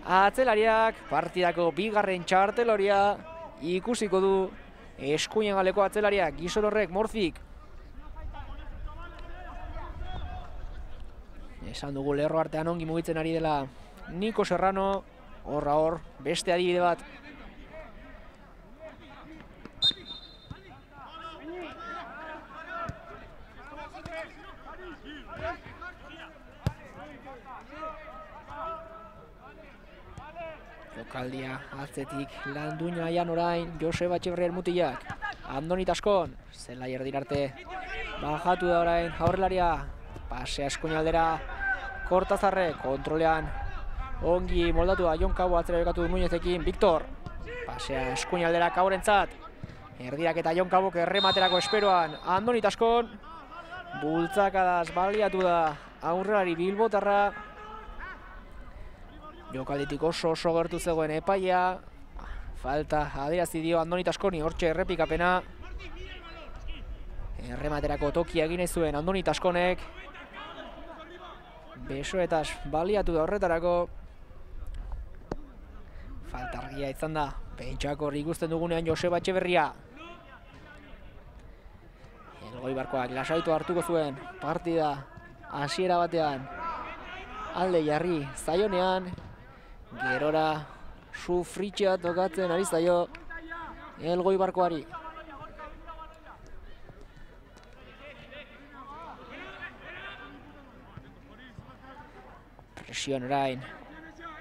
Speaker 1: Atzelariak partidako bigarren txarteloria ikusiko du. Eskuinen galeko atzelariak, Gizon horrek Morzik. Esan dugu lerro artean ongi mugitzen ari dela Niko Serrano, horra hor, beste adibide bat. Jokaldia atzetik landuina aian orain Joseba Etxeberriaren mutilak. Andoni Taskon, zelai erdin arte bajatu da orain aurrelaria. Pasea eskuinaldera Kortazarre, kontrolean ongi moldatu da Jon Cabo atzera bekatu du Muñezekin, Victor. Pasea eskuinaldera Caborentzat. Erdirak eta Jon Cabok errematerako esperoan Andoni Taskon. Bultzakadaz baliatu da aurrelari bilbotarra. Jokalditik oso oso gertu zegoen epaia. Falta adierazi dio Andoni Taskoni, hortxe errepikapena. Errematerako tokia egin zuen Andoni Taskonek. Besoetaz baliatu da horretarako. Falta argia izan da. Pentsako hor ikusten dugunean Joseba Etxeberria. Elgoibarkoak lasaitu hartuko zuen partida hasiera batean. Alde jarri zaionean. Gerora sufritxea tokatzen ari zaio Elgoibarkoari. Presioan orain,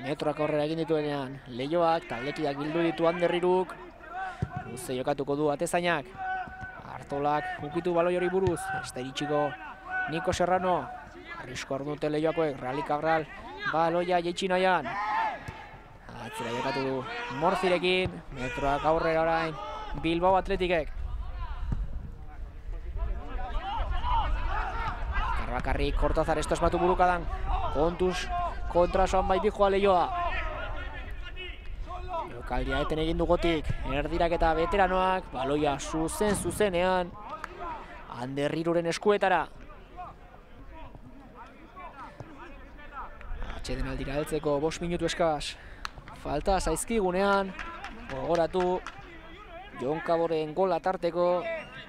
Speaker 1: metroak aurrera egin dituenean, Leioak, taldekiak bildu ditu Anderriruk. Luze jokatuko du atezainak. Artolak ukitu baloi hori buruz, ez da iritsiko Niko Serrano. Arrisko ardute Leioakoek, Rally Cabral, baloia jaitsi nahian. Atzera jokatu du Morzirekin, metroak aurrera orain, Bilbao Atletikek. Karbakarrik Kortazar ez asmatu burukadan. Kontuz kontra soan baiti joa Leioa. Jokaldia eten egin dugotik, erdirak eta veteranoak, baloia zuzen zuzenean Anderriruren eskuetara. Atxeden aldira heltzeko bost minutu eskaz. Falta zaizkigunean, gogoratu Jon Caboren gola tarteko,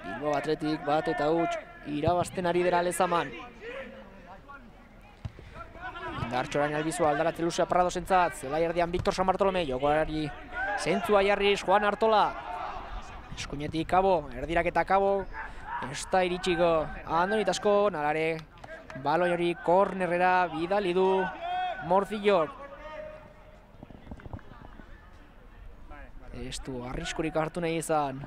Speaker 1: Bilbao Atletik bat eta huts irabazten ari dela Lezaman. Indartxorain albizua aldaratze luzea Pradosentzat, zelai erdian Victor San Bartolome, jokoari zentzua jarriz Juan Artola. Eskuinetik Cabo, erdirak eta Cabo, ez da iritsiko Andoni Taskon, alare baloi hori kornerrera bidali du Morzillok. Ez du arriskurik hartu nahi izan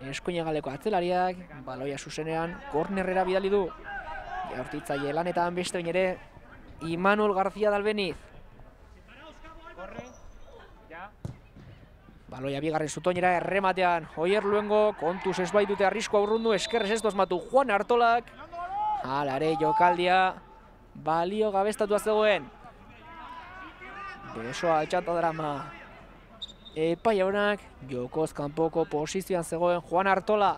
Speaker 1: eskuinegaleko atzelariak, baloia zuzenean kornerrera bidali du. Jaurtitzaile lanetan beste bain ere Imanol García Dalbeniz. Baloia bigarren zutoinera errematean Oier Luengo, kontuz ez baitute arriskoa urrundu, eskerrez ez dozmatu Juan Artolak. Alare jokaldia balio gabestatua zegoen. Besoa altxata drama. Epai haunak, jokoz kanpoko posizioan zegoen Juan Artola.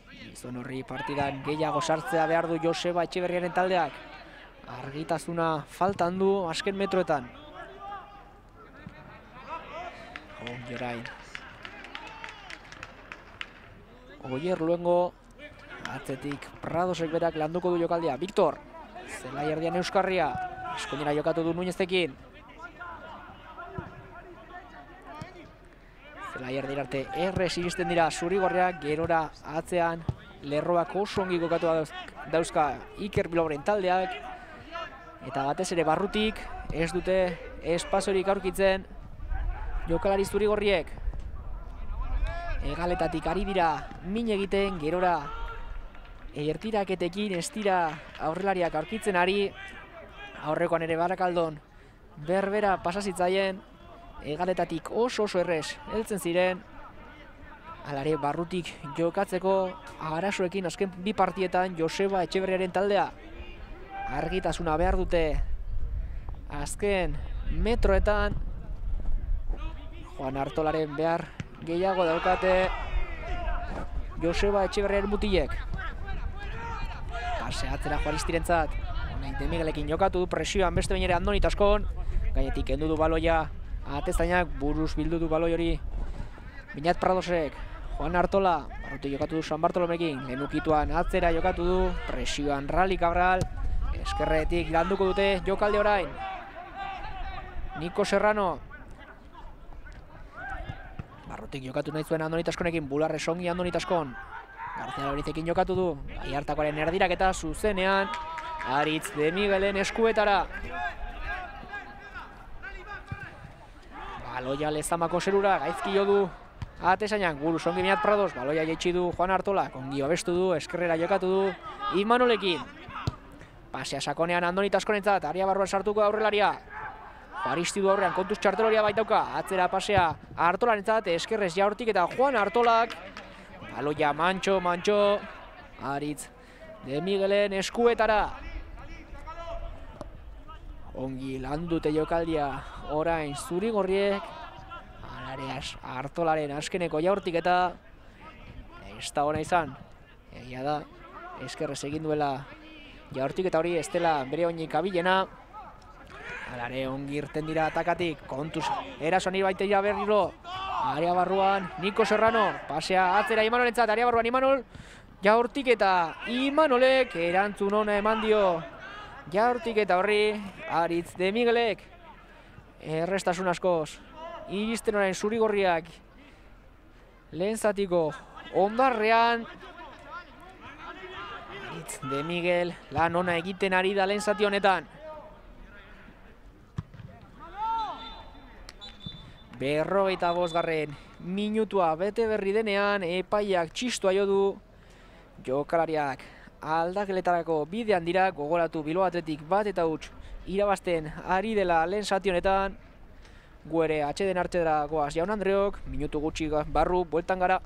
Speaker 1: Gizon horri partidan gehiago sartzea behar du Joseba Etxeberriaren taldeak. Argitasuna faltan du azken metroetan. Jorain. Oier luengo, atzetik Pradosek berak landuko du jokaldia. Victor, zelai erdian Euskarria, eskuinera jokatu du Nuñezekin. Zelai erdira arte errez iristen dira zurigorriak, gerora atzean lerroak oso ongi kokatu dauzka Iker Bilbaoren taldeak. Eta batez ere barrutik ez dute espaziorik aurkitzen jokalari zurigorriek. Hegaletatik ari dira min egiten, gerora ertiraketekin ez dira aurrelariak aurkitzen ari. Aurrekoan ere Barakaldon berbera pasazitzaien, hegaletatik oso oso errez heltzen ziren. Alare barrutik jokatzeko arazoekin azken bi partietan Joseba Etxeberriaren taldea. Argitasuna behar dute azken metroetan. Juan Artolaren behar gehiago daukate Joseba Etxeberriaren mutilek. Pase atzera Juaristirentzat. Honain de Miguelekin jokatu, presioan beste bain ere Andoni Taskon. Gainetik kendu du baloia Ateztainak, buruz bildu du baloi hori Binat Pradosek. Juan Artola, barrutik jokatu du San Bartolomekin. Lenukituan atzera jokatu du, presioan Rally Cabral. Eskerretik landuko dute jokalde orain. Niko Serrano. Barrutik jokatu nahi zuen Andoni Taskonekin, bularre songi Andoni Taskon. Garzia Lorizekin jokatu du, Aiartakoaren erdirak eta zuzenean Aritz de Miguelen eskuetara. Baloia Lezamako zerura, gaizki jo du Atezainak, buruz ongi Binat Prados, baloia jaitsi du Juan Artola, ongi babestu du, eskerrera jokatu du Imanolekin. Pasea sakonean Andoni Taskonentzat, aria barruan sartuko aurrelaria. Juaristi du aurrean, kontuz txarteloria baitauka, atzera pasea Artolarentzat, eskerrez jaurtik eta Juan Artolak. Baloia mantxo, mantxo, Aritz de Miguelen eskuetara. Ongi landute jokaldia orain zurigorriek. Alareaz Artolaren askeneko jaurtik eta ez da ona izan. Egia da, eskerrez egin duela jaurtik eta hori ez dela bere oinik abilena. Alare ongi irten dira atakatik, kontuz erasoan ibaiteia berriro. Area barruan Niko Serrano, pasea atzera Imanolentzat, area barruan Imanol. Jaurtik eta Imanolek erantzun ona eman dio. Jaurtik eta horri Aritz de Miguelek errestasun askoz iristen orain zurigorriak lehen zatiko ondarrean. Aritz de Miguel lan ona egiten ari da lehen zati honetan. Berrogeita bosgarren minutua bete berri denean epaiak txistua jo du. Jokalariak aldakeletarako bidean dira, gogoratu Bilbao Athletic bat eta huts irabazten ari dela lehen zati honetan. Gu ere atxeden hartzera goaz Jaun Andreok, minutu gutxi barru, bueltan gara.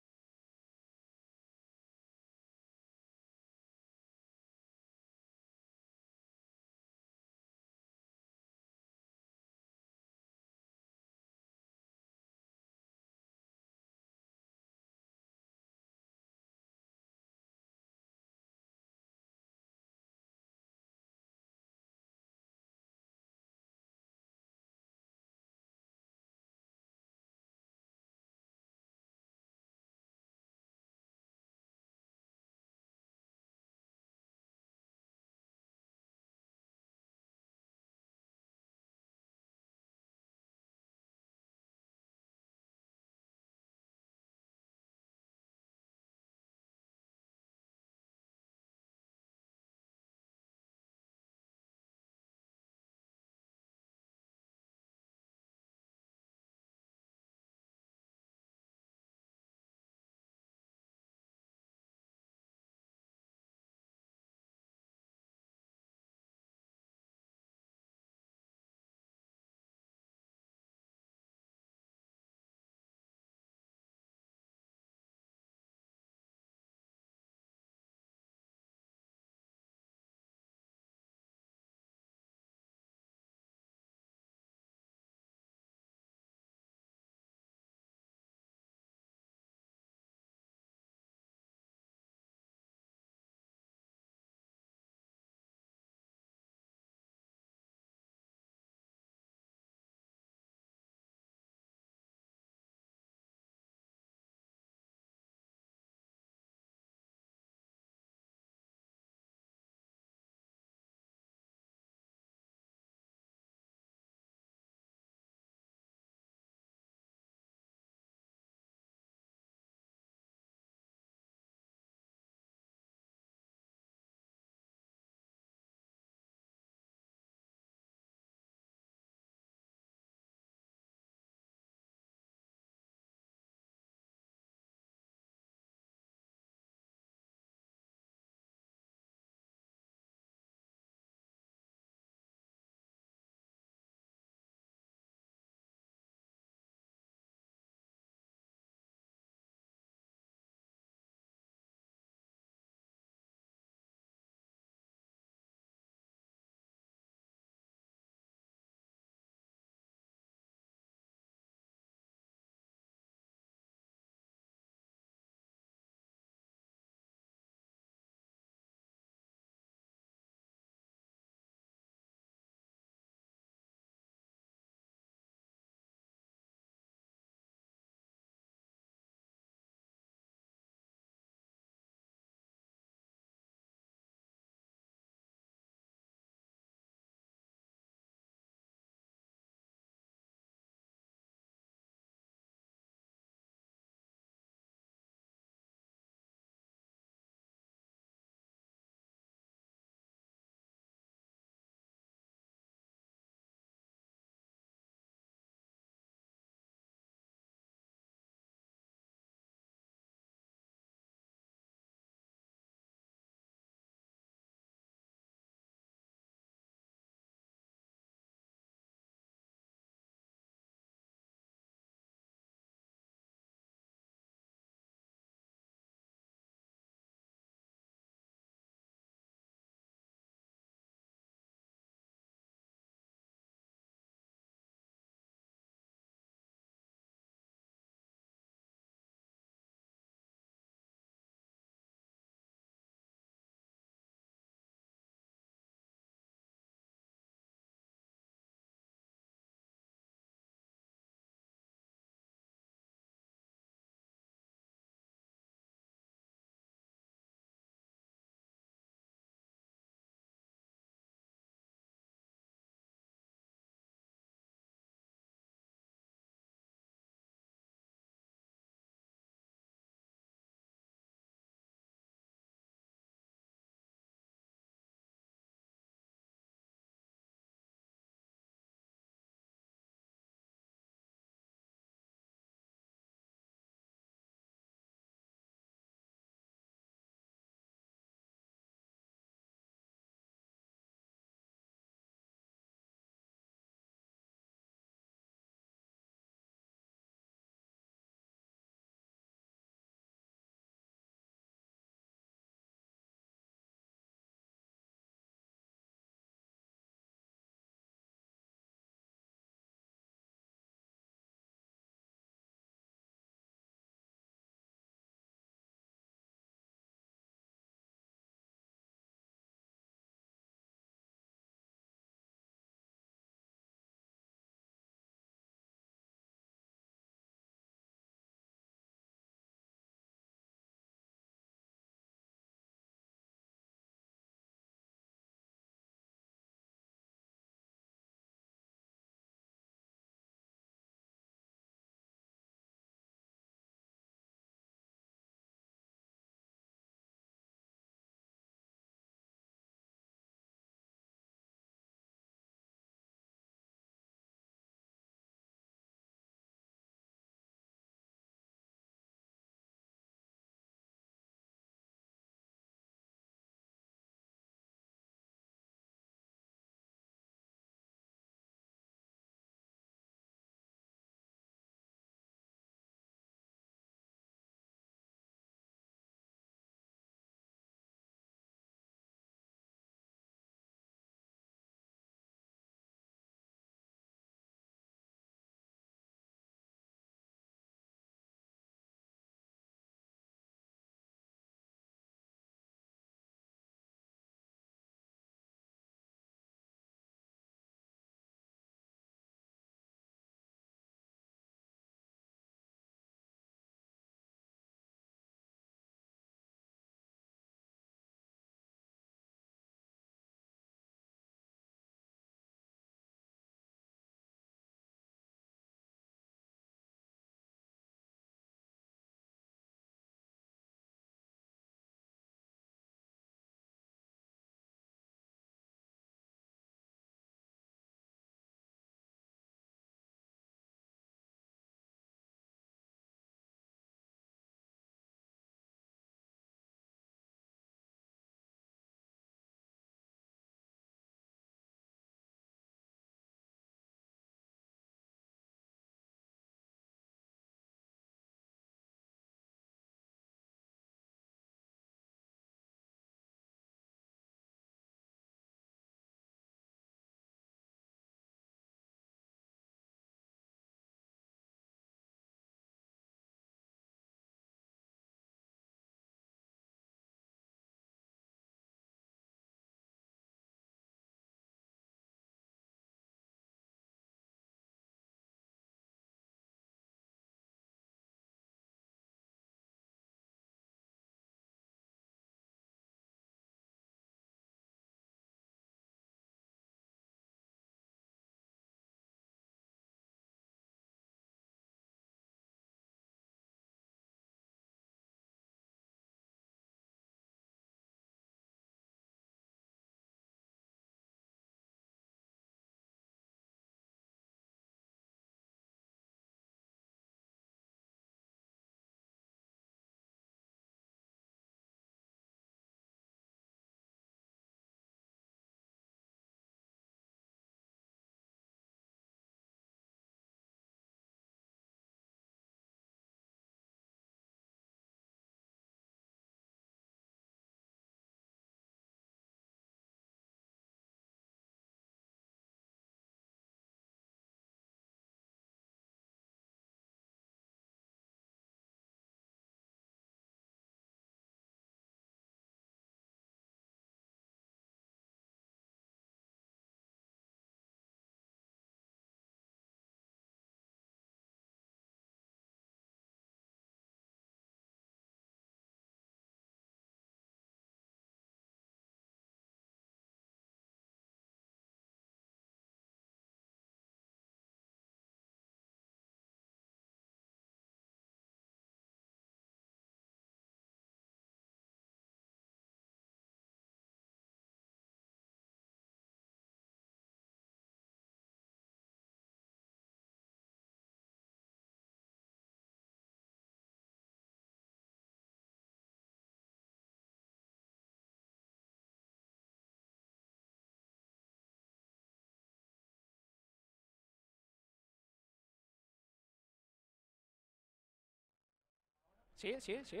Speaker 1: Sí, sí, sí.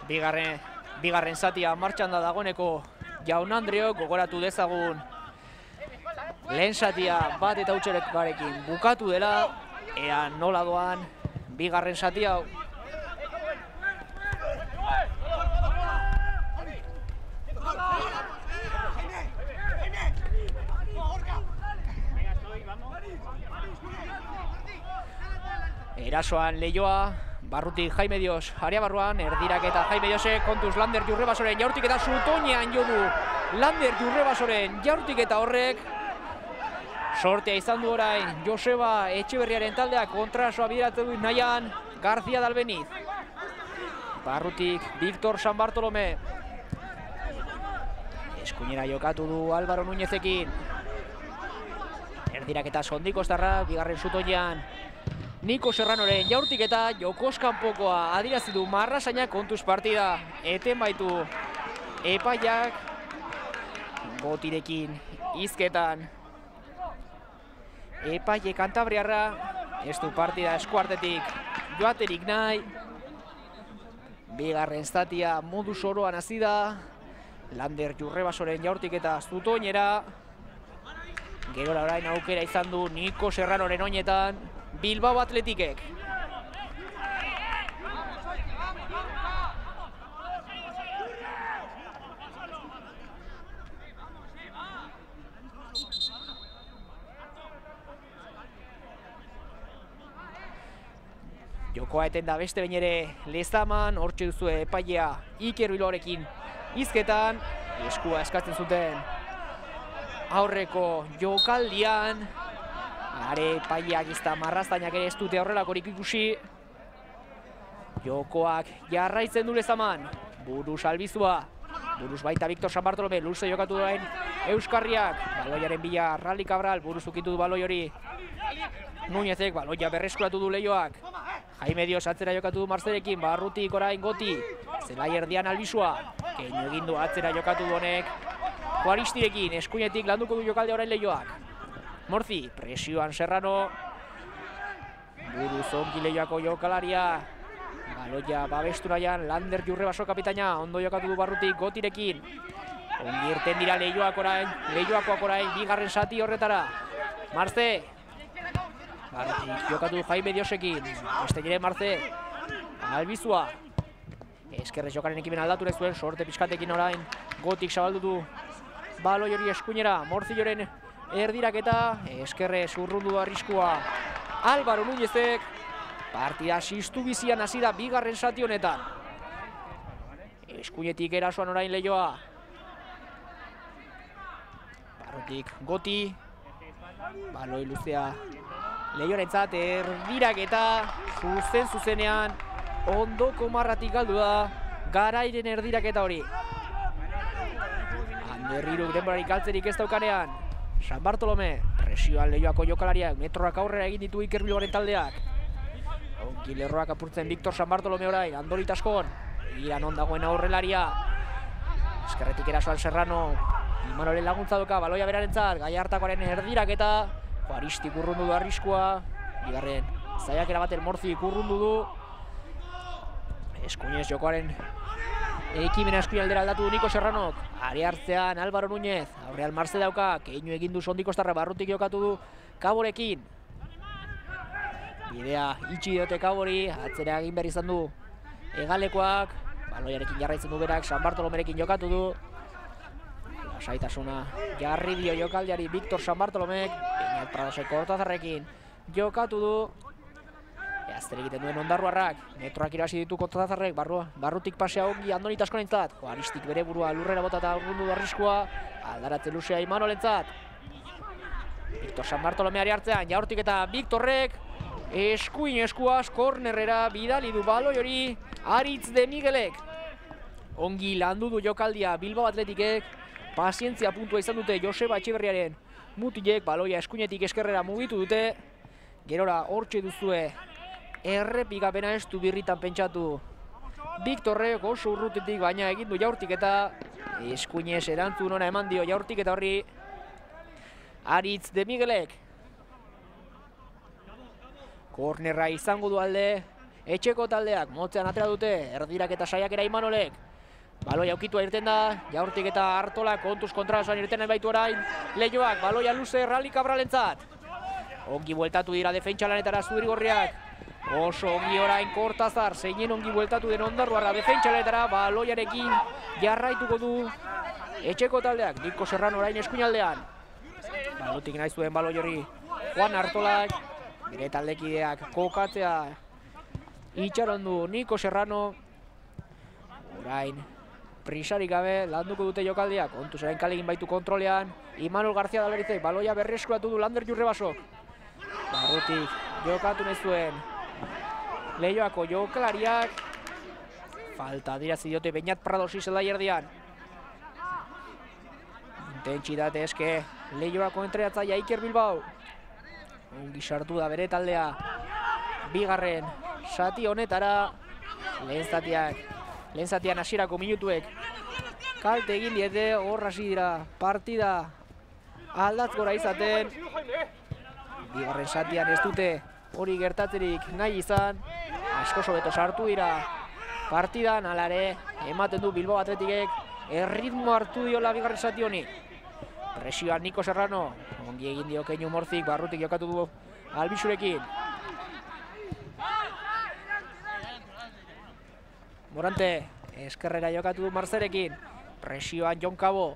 Speaker 1: Bigarren, bigarren zatia martxan da dagoeneko Jaun Andreok, gogoratu dezagun lehen zatia bat eta utxerekarekin bukatu dela, ea nola doan bigarren zati hau. Erasoan Leioa, barrutik Jaime Dios, area barruan, erdirak eta Jaime Diosek, kontuz Lander Jurrebasoren jaurtik eta zutoinean jo du Lander Jurrebasoren jaurtik eta horrek sortea izan du orain Joseba Etxeberriaren taldeak kontrasoa bideratu du nahian García Dalbeniz. Barrutik Víctor San Bartolomé. Eskuinera jokatu du Álvaro Núñezekin. Erdirak eta Sondikostarra, bigarren zutoinean Niko Serranoren jaurtik eta jokoz kanpokoa adirazi du Marrasainak, kontuz partida eten baitu epaiak Gotirekin hizketan. Epaile Kantabriarra ez du partida eskuartetik joaterik nahi. Bigarren zatia modu soroan hasi da. Lander Jurrebasoren jaurtik eta zutoinera. Gerora orain aukera izan du Niko Serranoren oinetan Bilbao Athleticek. Jokoa eten da beste behin ere Lezaman, hortxe duzue epailea Iker Bilbaorekin hizketan, eskua eskatzen zuten aurreko jokaldian. Are epaileak izta Marrastainak ere ez dute horrelakorik ikusi. Jokoak jarraitzen du Lezaman, buruz albizua, buruz baita Víctor San Bartolomé, luze jokatu duen Euskarriak, baloiaren bila Rally Cabral, buruz ukitu du baloi hori Núñezek, baloia berreskuratu du Leioak. Jaime Dios atzera jokatu du Marzerekin, barrutik orain Goti, zelai erdian albizua, keinu egin du atzera jokatu du honek Juaristirekin, eskuinetik landuko du jokalde orain Leioak. Morzi, presioan Serrano, buruz ongi Leioako jokalaria, baloia babestu nahian Lander Jurrebaso kapitaina, ondo jokatu du barrutik Gotirekin. Ongi irten dira Leioak orain, Leioakoak orain, bigarren zati horretara. Marze, barrutik jokatu du Jaime Diosekin, beste gire Marze, albizua. Eskerrez jokaren ekimen aldatu zuen, sorte pixkatekin orain, Gotik zabaldu du baloi hori eskuinera, Morzilloren erdirak eta eskerrez urrundu du arriskua Álvaro Núñezek. Partida sistu bizian hasi da bigarren zati honetan. Eskuinetik erasoan orain Leioa. Barrutik Goti. Baloi luzea Leioarentzat, erdirak eta zuzen zuzenean ondoko marratik galdu da Garairen erdirak eta hori. Anderriruk denborarik galtzerik ez daukanean. San Bartolomé, presioan Leioako jokalariak, metroak aurrera egin ditu Iker Bilbaoren taldeak. Ongi lerroak apurtzen Víctor San Bartolomé orain, Andorita askon. Iran ondagoen aurrelaria. Eskerretik erasoan Serrano, Imanolen laguntza doka, baloia berarentzat, Gallartakoaren erdirak eta Juaristik urrundu du arriskua. Bigarren, zaiak erabaten Morzik urrundu du. Eskuinez jokoaren ekimena eskuin aldera aldatu du Niko Serranok. Ari hartzean Álvaro Núñez, aurrean Marze dauka, keinu egin du Sondikostarra, barrutik jokatu du Kaborekin. Bidea itxi diote Kabori, atzera egin behar izan du Egalekoak, baloiarekin jarraitzen du berak, San Bartolomerekin jokatu du. Lasaitasuna jarri dio jokaldiari Víctor San Bartolomek, Peñat Pradosek Kortazarrekin jokatu du. Azter egiten duen ondarruarrak, metroak irasi ditu Kortazarrek, barrutik pasea ongi Andonita askorentzat. Juaristik bere burua lurrera bota eta urrundu du arriskua, aldaratze luzea Imanolentzat. Víctor San Bartolomeari hartzean, jaurtik eta Víctorrek, eskuin eskuaz, kornerrera bidali du baloi hori Aritz de Miguelek. Ongi landu du jokaldia Bilbao Athleticek, pazientzia puntua izan dute Joseba Etxeberriaren mutilek, baloia eskuinetik eskerrera mugitu dute. Gerora hortxe duzue errepikapena ez du birritan pentsatu Víctorrek oso urrutitik, baina egin du jaurtik eta eskuinez erantzun ona eman dio jaurtik eta horri Aritz de Miguelek. Kornerra izango du alde, etxeko taldeak motzean atera dute, erdirak eta saiakera Imanolek. Baloia aukitua irten da, Jaurtik eta Artola kontuz kontrasoan irten nahi baitu orain. Leioak, baloia luze Rally Cabralentzat. Ongi bueltatu dira defentsa lanetara Zurigorriak. Oso ongi orain Kortazar, zeinen ongi bueltatu den Ondarruarra defentsa lanetara, baloiarekin jarraituko du etxeko taldeak. Niko Serrano orain eskuinaldean. Balotik nahi zuen baloi hori Juan Artolak, bere taldekideak kokatzea itxaron du Niko Serrano. Orain prisarik gabe landuko dute jokaldiak, kontuz orain kalegin baitu kontrolean. Imanol García Dalberizek baloia berreskuratu du Lander Jurrebasok. Barrutik jokatu nahi zuen Leioako jokalariak. Falta adirazi diote Beñat Pradosi zelai erdian. Intentsitate eske Leioako entreatzaia Iker Bilbao. Ongi sartu da bere taldea bigarren zati honetara. Lehen zatiak, lehen zatian hasierako minutuek kalte egin diete, hor hasi dira partida aldatzgora izaten. Bigarren zatian ez dute hori gertatzerik nahi izan, asko sobeto sartu dira partidan, alare ematen du Bilbao Atletikek erritmo hartu diola bigarren zati honi. Presioan Niko Serrano, ongi egin dio Keinu Morzik, Barrutik jokatu du Albisurekin. Morante, eskerrera jokatu du Marzerekin, presioan Jon Cabo.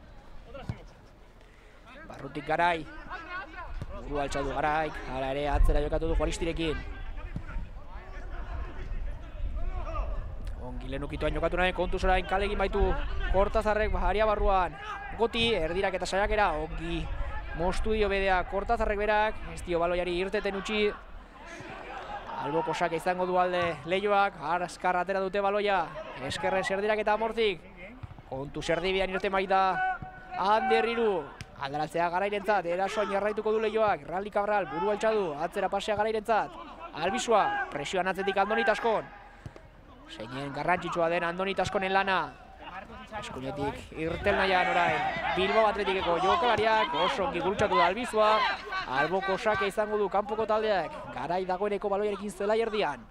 Speaker 1: Barrutik Garai, buru altxatu Garaik, hala ere atzera jokatu du Juaristirekin. Ongi lehen ukituan jokatu nahi, kontuz orain kalegin baitu Kortazarrek aria barruan. Goti, erdirak eta saiakera, ongi mostu dio bedea Kortazarrek berak, ez dio baloiari irteten utzi. Alboko sake izango du alde Leioak, azkar atera dute baloia, eskerrez erdirak eta Mortik. Kontuz erdibian irte baita Ander Hiru, aldaratzea Garairentzat, erasoan jarraituko du Leioak, Rally Cabral, buru altxadu, atzera pasea Garairentzat. Albizua, presioan atzetik Andoni Taskon. Zeinen garrantzitsua den Andoni Taskonen lana. Eskuinetik irtel nahian orain Bilbao Atletikeko jokalariak, oso ongi gurutxatu da Albizua. Alboko sake izango du kanpoko taldeak, Garai dagoeneko baloiarekin zelai erdian.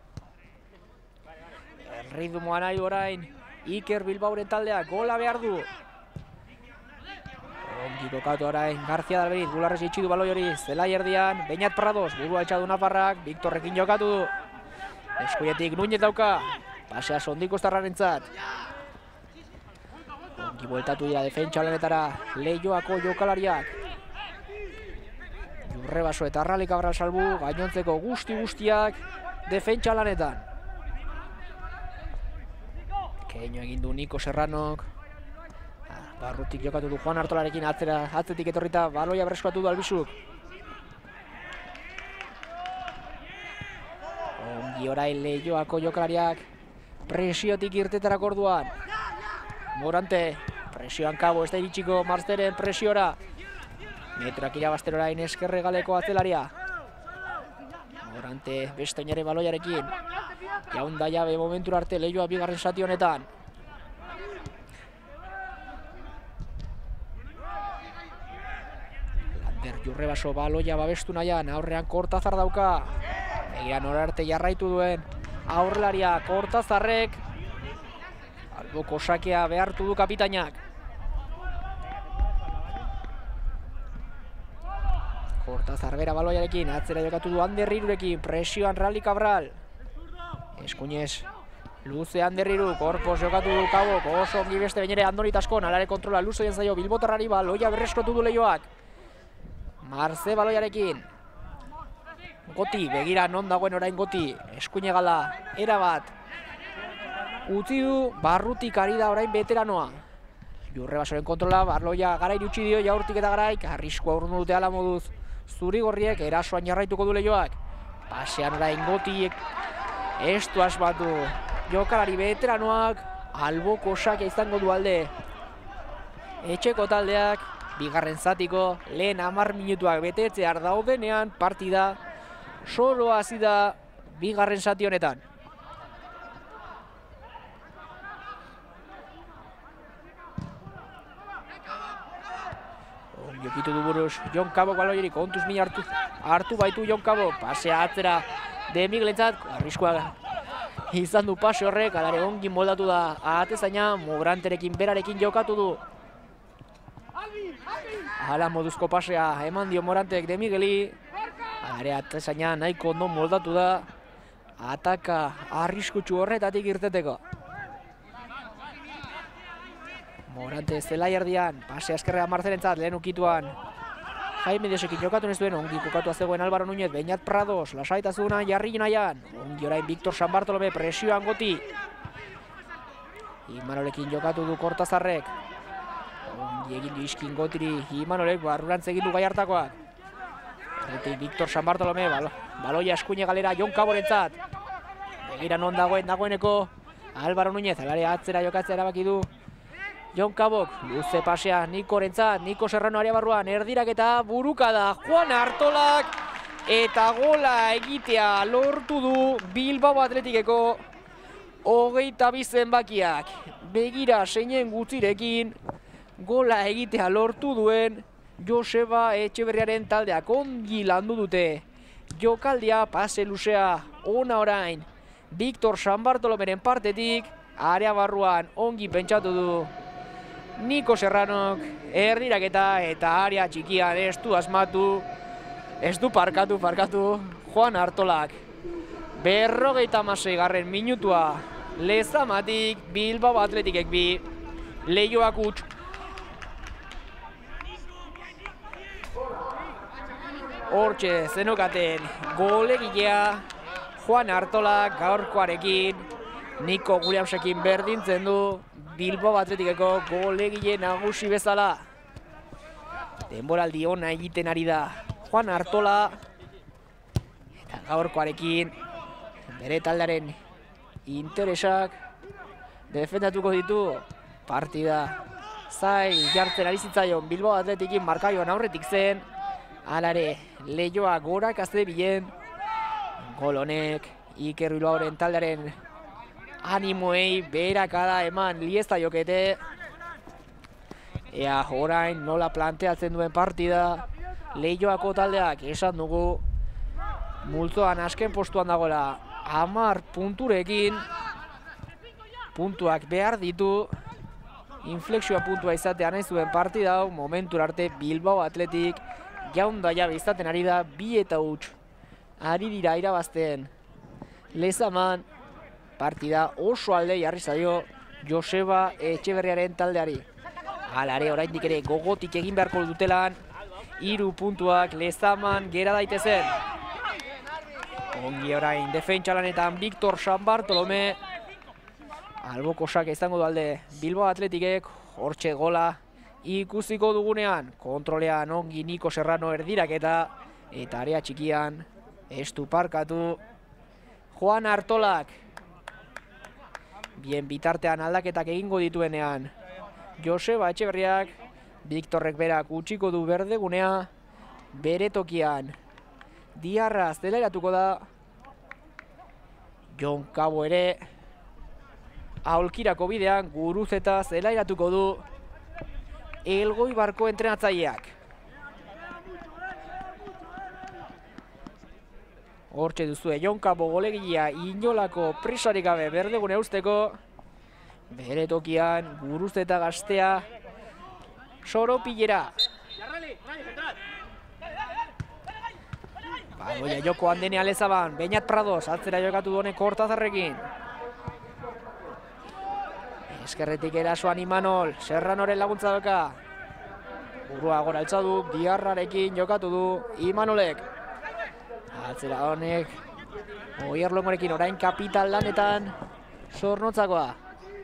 Speaker 1: Erritmoa nahi orain Iker Bilbaoren taldeak, gola behar du. Ongi kokatu orain García Dalberiz, bularrez itxi du baloi hori zelai erdian. Beñat Prados, burua etxadu Nafarrak, Viktorrekin jokatu du. Eskuinetik Núñez dauka, pasea Sondiko Estarrarentzat. Ongi bueltatu dira defentsa lanetara Leioako jokalariak. Jurrebaso eta Rally Cabral salbu, gainontzeko guzti-guztiak defentsa lanetan. Keino egin du Niko Serranok. Barrutik jokatu du Juan Artolarekin, atzera, atzetik etorrita baloia berreskuratu du Albizuk. Ongi orain Leioako jokalariak presiotik irtetarako orduan. Morante, presioan Cabo, ez da iritsiko Marzeren presiora. Metroak irabazten orain eskerre galeko atzelaria. Morante beste oinare baloiarekin. Jaun da jabe momentura arte Leioa bigarren zati honetan. Lander Jurrebaso baloia babestu nahian, aurrean Kortazar dauka. Egian orarte jarraitu duen aurrelaria Kortazarrek. Alboko sakea behartu du kapitainak. Kortazar bera baloiarekin, atzera jokatu du Ander Hirurekin, presioan Rally Cabral. Eskuinez, luze Ander Hiru, korpos jokatu du Kabok, oso ongi beste bainere Andoni Taskon, alare kontrola luze den zaio Bilbotarrari, baloia berreskuratu du Leioak. Marze baloiarekin. Goti, begira non dagoen orain Goti, eskuine gala, erabat. Utzi du, Barrutik ari da orain veteranoa. Jurrebasoren kontrola, baloia Garairi utzi dio, Jaurtik eta Garaik, arriskua urrundu dute ala moduz. Zurigorriek erasoan jarraituko du Leioak. Pasean orain Gotiek ez du asmatu. Jokalari veteranoak, alboko sakea izango du alde. Etxeko taldeak, bigarren zatiko, lehen hamar minutuak betetzear daudenean partida solo hasi da bigarren zati honetan. Jokitu du buruz Jon Kabok baloiari, kontuz mina hartu, hartu baitu Jon Kabok, pasea atzera De Miguelentzat, arriskua izan du pase horrek, alare ongi moldatu da atezaina, Moranterekin berarekin jokatu du. Hala moduzko pasea eman dio Morantek De Migueli, alare atezaina nahiko ondo moldatu da, ataka arriskutsu horretatik irteteko. Morante zelai erdian, pase askerrea Marcelentzat, lehen ukituan. Jaime Diosekin jokatu ez duen, ongi kokatua zegoen Álvaro Núñez, Beñat Prados, lasaitasuna jarri nahian. Ongi orain Victor San Bartolome presioan goti. Imanolekin jokatu du Kortazarrek. Ongi egin du iskin gotiri Imanolek, barrurantz egin du Gaiartakoak. Horretik Victor San Bartolome, balo, baloia eskuine galera Jon Caborentzat. Begira non dagoen dagoeneko Álvaro Núñez, alare atzera jokatzea erabaki du Jon Cabok, luze pasea Nikorentzat, Niko Serrano area barruan, erdirak eta burukada Juan Artolak eta gola egitea lortu du Bilbao Atletikeko hogeita bi zenbakiak. Begira seinen gutzirekin gola egitea lortu duen Joseba Etxeberriaren taldeak ongi landu dute. Jokaldia pase luzea ona orain Victor San Bartolomeren partetik, area barruan ongi pentsatu du Niko Serranok, erdiraketa eta area txikian ez du asmatu, ez du parkatu, parkatu Juan Artolak. Berrogeita hamasei garren minutua, Lezamatik Bilbao Atletikek bi, Leioak huts. Hortxe zenokaten golegilea Juan Artolak gaurkoarekin, Niko Williamsekin berdintzen du Bilbao Atletikeko golegile nagusi bezala. Denboraldi ona egiten ari da Juan Artola eta gaurkoarekin bere taldearen interesak defendatuko ditu. Partida zail jartzen ari zitzaion Bilbao Atletikin markaioan aurretik zen, alare Leioa gorak azte bilen. Gol honek Iker Bilbaoren taldearen animoei beherakada eman liesta jokete. Ea orain nola planteatzen duen partida Leioako taldeak, esan dugu multzoan azken postuan dagoela hamar punturekin. Puntuak behar ditu, inflexioa puntua izatea nahi zuen partida hau. Momentura arte Bilbao Atletik jaunda jabe izaten ari da, bi eta huts ari dira irabazten. Lezaman partida oso alde jarri zaio Joseba Etxeberriaren taldeari. Halare oraindik ere gogotik egin beharko dutelan, hiru puntuak Lezaman gera daitezen. Ongi orain defentsa lanetan Victor San Bartolome, albokosak izango du alde Bilbao Atletikek, hortxe gola ikusiko dugunean. Kontrolean ongi Niko Serrano erdiraketa eta area txikian ez du parkatu Juan Artolak. Bien bitartean aldaketak egingo dituenean Joseba Etxeberriak, Victorrek berak utziko du berdegunea bere tokian. Diarra zelairatuko da, Jon Cabo ere aholkirako bidean Guruzeta zelairatuko du Elgoibarko entrenatzaileak. Hortxe duzue Jon Cabo golegilea inolako prisarik gabe berdegune usteko. Bere tokian Guruzeta gaztea soropilera. Baloia joko handenea Lezaban, Beñat Prados, atzera jokatu duene Kortazarrekin. Eskerretik erasoan Imanol, Serranoren laguntza doka. Burua gora altza du, Diarrarekin jokatu du Imanolek. Atzera honek, Oier Longorekin orain kapital lanetan Zornotzakoa.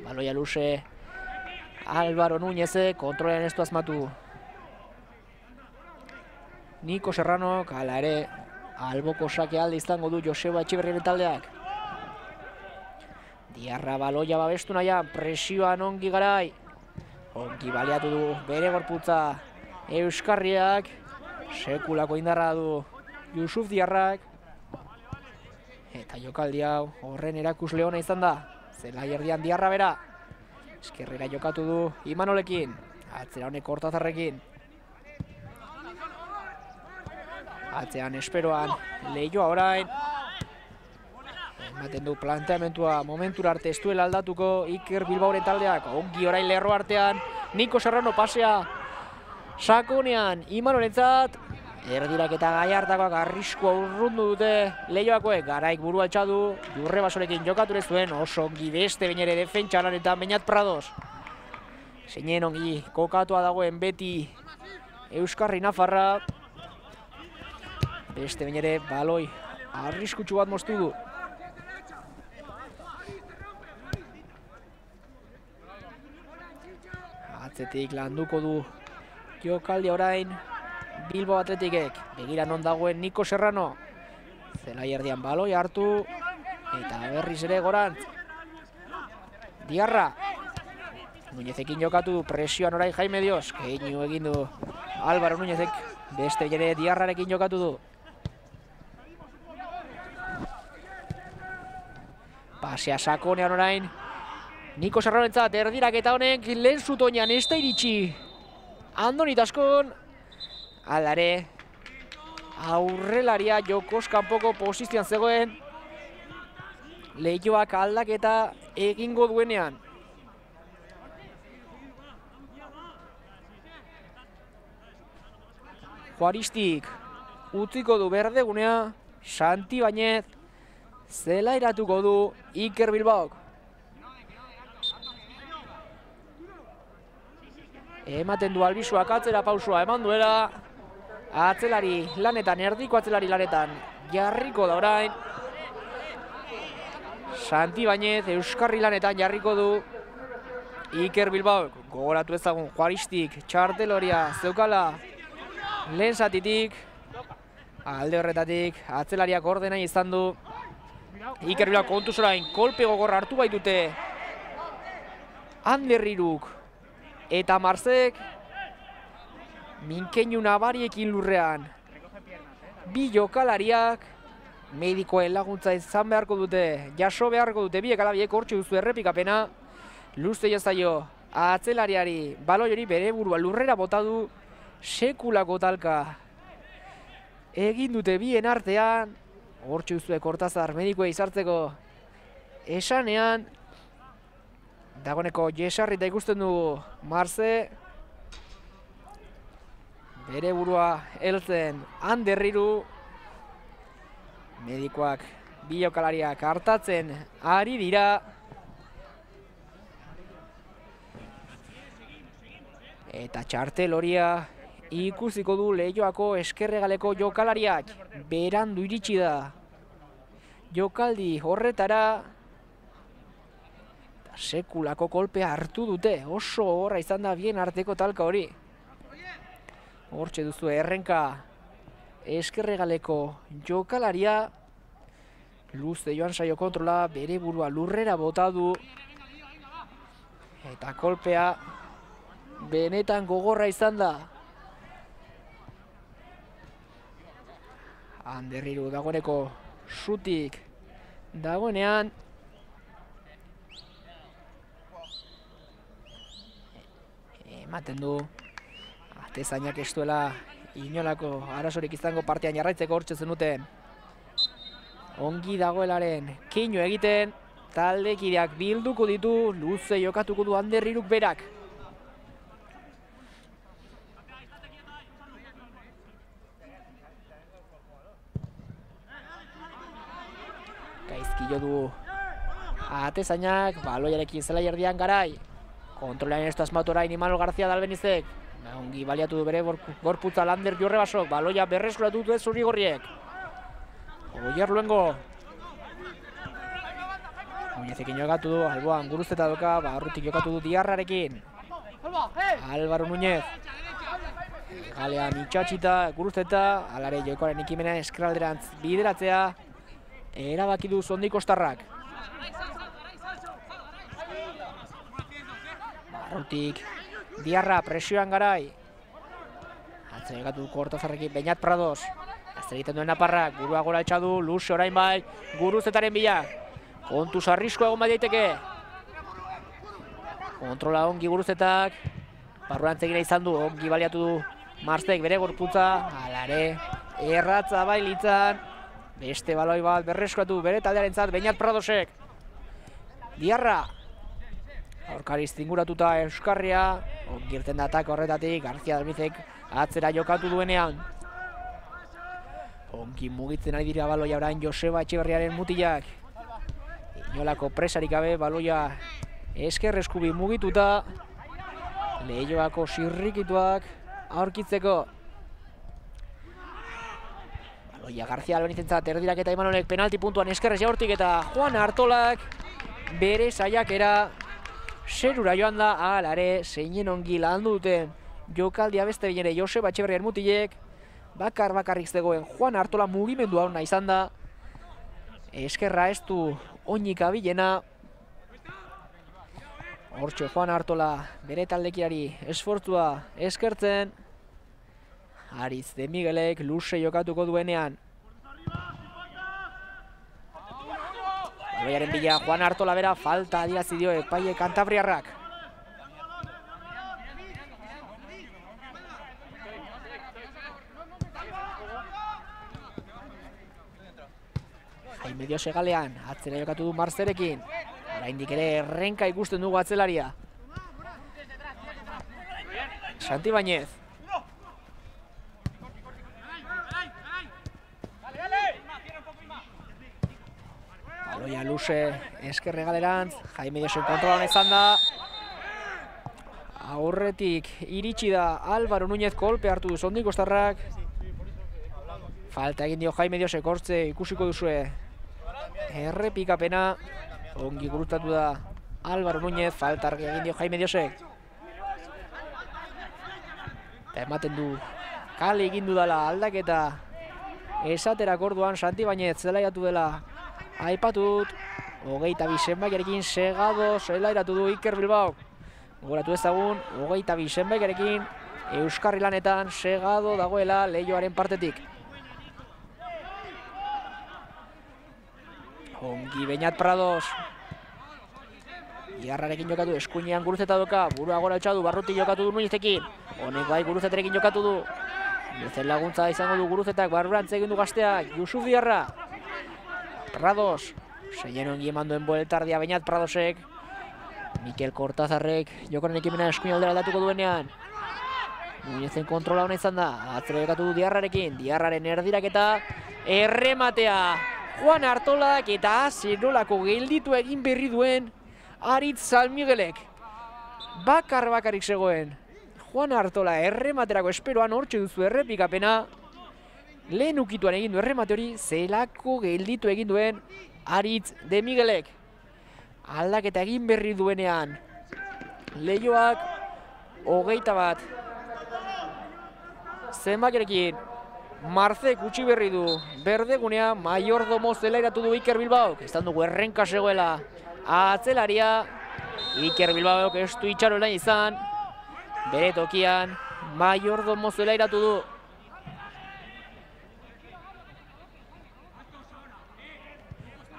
Speaker 1: Baloia luze Álvaro Núñezek, kontrolean ez du asmatu. Niko Serrano, hala ere, alboko sake alde izango du Joseba Etxeberriaren taldeak. Diarra baloia babestu nahian, presioan ongi garai. Ongi baliatu du bere gorputza Euskarriak, sekulako indarra du Jusuf Diarrak. Eta jokaldi hau horren erakusle ona izan da. Zelai erdian Diarra bera. Eskerrera jokatu du Imanolekin, atzera honek Kortazarrekin. Atzean esperoan Leioa orain. ematen du planteamentua momentura arte ez duela aldatuko Iker Bilbaoren taldeak. Ongi orain lerro artean, Niko Serrano pasea sakonean Imanolentzat. Erdirak eta Gallartakoak arriskua urrundu dute Leioakoek. Garaik burua altxadu, Jurre Basorekin jokatu ere zuen, oso ongi beste bain ere defentsa lanetan Beñat Prados. Zeinen ongi kokatua dagoen beti Euskarri Nafarra. Beste bain ere baloi arriskutsu bat moztu du. Atzetik landuko du jokaldi orain Bilbao Atletikek. Begira non dagoen Niko Serrano. Zelai erdian baloi hartu. Eta berriz ere gorantz. Diarra. Nuñezekin jokatu du presioan orain Jaime Dios. Keinu egin du Álvaro Nuñezek. Beste ere Diarrarekin jokatu du. Pasea sakonean orain Niko Serranoentzat erdirak eta honek lehen zutoinan ez da iritsi. Andoni Taskon. Aldare aurrelaria jokoz kanpoko posizioan zegoen. Leioak aldaketa egingo duenean. Juaristik utziko du berdegunea. Santi Bañez zelairatuko du Iker Bilbaok. Ematen du Albisuak atzera pausua eman duela. Atzelari lanetan, erdiko atzelari lanetan jarriko da orain. Santi Bañez Euskarri lanetan jarriko du Iker Bilbaok. Gogoratu ezagun Juaristik txarteloria zeukala lehen zatitik. Alde horretatik atzelariak ordena izan du. Iker Bilbaok kontuz orain kolpe gogorra hartu baitute Ander Hiruk eta Marzek. Minkeinu nabariekin lurrean. Bi jokalariak medikoen laguntza izan beharko dute, jaso beharko dute biek alabiek. Hortxe duzu errepikapena. Luze jazaio atzelariari baloi hori bere burua lurrera bota du. Sekulako talka egin dute bien artean. Hortxe duzu Kortazar medikoa izartzeko esanean. Dagoneko jesarrita ikusten dugu Marze. Bere burua heltzen Ander Hiru. Medikoak bi jokalariak hartatzen ari dira. Eta txartel horia ikusiko du Leioako eskerregaleko jokalariak. Berandu iritsi da jokaldi horretara. Sekulako kolpea hartu dute. Oso horra izan da bien arteko talka hori. Hortxe duzu errenka eskerregaleko jokalaria. Luze joan saio kontrola, bere burua lurrera bota du. Eta kolpea benetan gogorra izan da. Ander Hiru dagoeneko zutik dagoenean. Ematen du atezainak ez duela inolako arazorik izango partean jarraitzeko. Hortxe zenuten ongi dagoelaren keinu egiten. Taldekideak bilduko ditu, luze jokatuko du Ander Hiruk berak. Gaizki jo du atezainak, baloiarekin zelai erdian Garai. Kontrolean ez du asmatu orain Imanol García Dalbenizek. Ongi baliatu du bere gorputza Lander Jurre Basok. Baloia berreskuratu du ez zuri-gorriek. Oier Luengo. Nuñezekin jokatu du, alboan Guruzeta doka, barrutik jokatu du Diarrarekin. Álvaro Núñez. Galean itxatxita, Guruzeta, alare jokoaren ikimena eskralderantz bideratzea. Erabaki du Zondi Kostarrak. Barrutik Diarra presioan Garai. Atzen jokatu du Kortazarrekin Beñat Prados. Azter egiten duen Naparrak, burua gora altxadu, luze orain bai, Guruzetaren bila. Kontuz arrisko egon bai daiteke. Kontrola ongi Guruzetak. Barruan zegina izan du, ongi baliatu du Marzek bere gorputza. Alare, erratza bailitzan. Beste baloi bat berreskuratu bere taldearentzat Beñat Pradosek. Diarra. Aurkariz zinguratuta Euskarria. Ongirten da atako horretatik, García Dalmizek atzera jokatu duenean. Ongi mugitzen ari dira baloia orain Joseba Etxeberriaren mutilak. Inolako presarik gabe baloia esker eskubi mugituta. Leioako sirrikituak aurkitzeko. Baloia García Albenizentzat erdirak eta Imanolek penalti puntuan eskerrez jaurtik eta Juan Artolak bere saiakera zerura joan da, alare zeinen ongi landu duten jokaldia beste behin ere Joseba Etxeberriaren mutilek. Bakar bakarrik zegoen Juan Artola mugimendu hona izan da. Eskerra ez du oinik abilena. Hortxe Juan Artola bere taldekirari esfortzua eskertzen. Ariz de Miguelek luze jokatuko duenean. Baloiaren bila Juan Artola bera falta adierazi dio epaile kantabriarrak. Jaime Diose galean, atzera jokatu du Marzerekin. Oraindik ere errenka ikusten dugu atzelaria. Santi Bañez. Baloia luze eskerre galerantz, Jaime Diose kontrolan izan da. Aurretik iritsi da Álvaro Núñez, kolpe hartu du Sondikostarrak. Falta egin dio Jaime Diose, hortze ikusiko duzue. Errepikapena, ongi gurutatu da Álvaro Núñez, falta argi egin dio Jaime Diosek. Eta ematen du, kale egin dudala aldaketa esaterak orduan Santi Bañez zelaiatu dela aipatut. Hogeita bi zenbakiarekin segado zelairatu du Iker Bilbao. Gogoratu ezagun, hogeita bi zenbakiarekin Euskarri lanetan segado dagoela Leioaren partetik. Ongi Beñat Prados. Iarrarekin jokatu, eskuinean Guruzeta doka, burua gora altxadu, Barruti jokatu du Nuñezekin. Honek bai Guruzeterekin jokatu du. Nuñezen laguntza izango du Guruzetak, barburantz egin du gazteak, Yusuf Diarra. Prados, zeien ongi eman duen bueltardia Beñat Pradosek. Mikel Kortazarrek jokoren ekimena eskuin aldera aldatuko duenean. Nuñezen kontrola hona izan da, atzera jokatu du Diarrarekin, Diarraren erdiraketa, errematea. Juan Artolak eta zerolako gelditu egin berri duen Aritz San Miguelek. Bakar bakarrik zegoen. Juan Artola errematerako esperoan hortxe duzu errepikapena. Lehen ukituan egin du erremate hori, zelako gelditu egin duen Aritz de Miguelek. Aldaketa egin berri duenean. Leioak hogeita bat. Zenbakirekin. Marzek utzi berri du berdegunea, Mayordomo zelairatu du Iker Bilbaok. Ez dugu errenka zegoela atzelaria. Iker Bilbaok ez du itxaro lan izan. Bere tokian Mayordomo zelairatu du.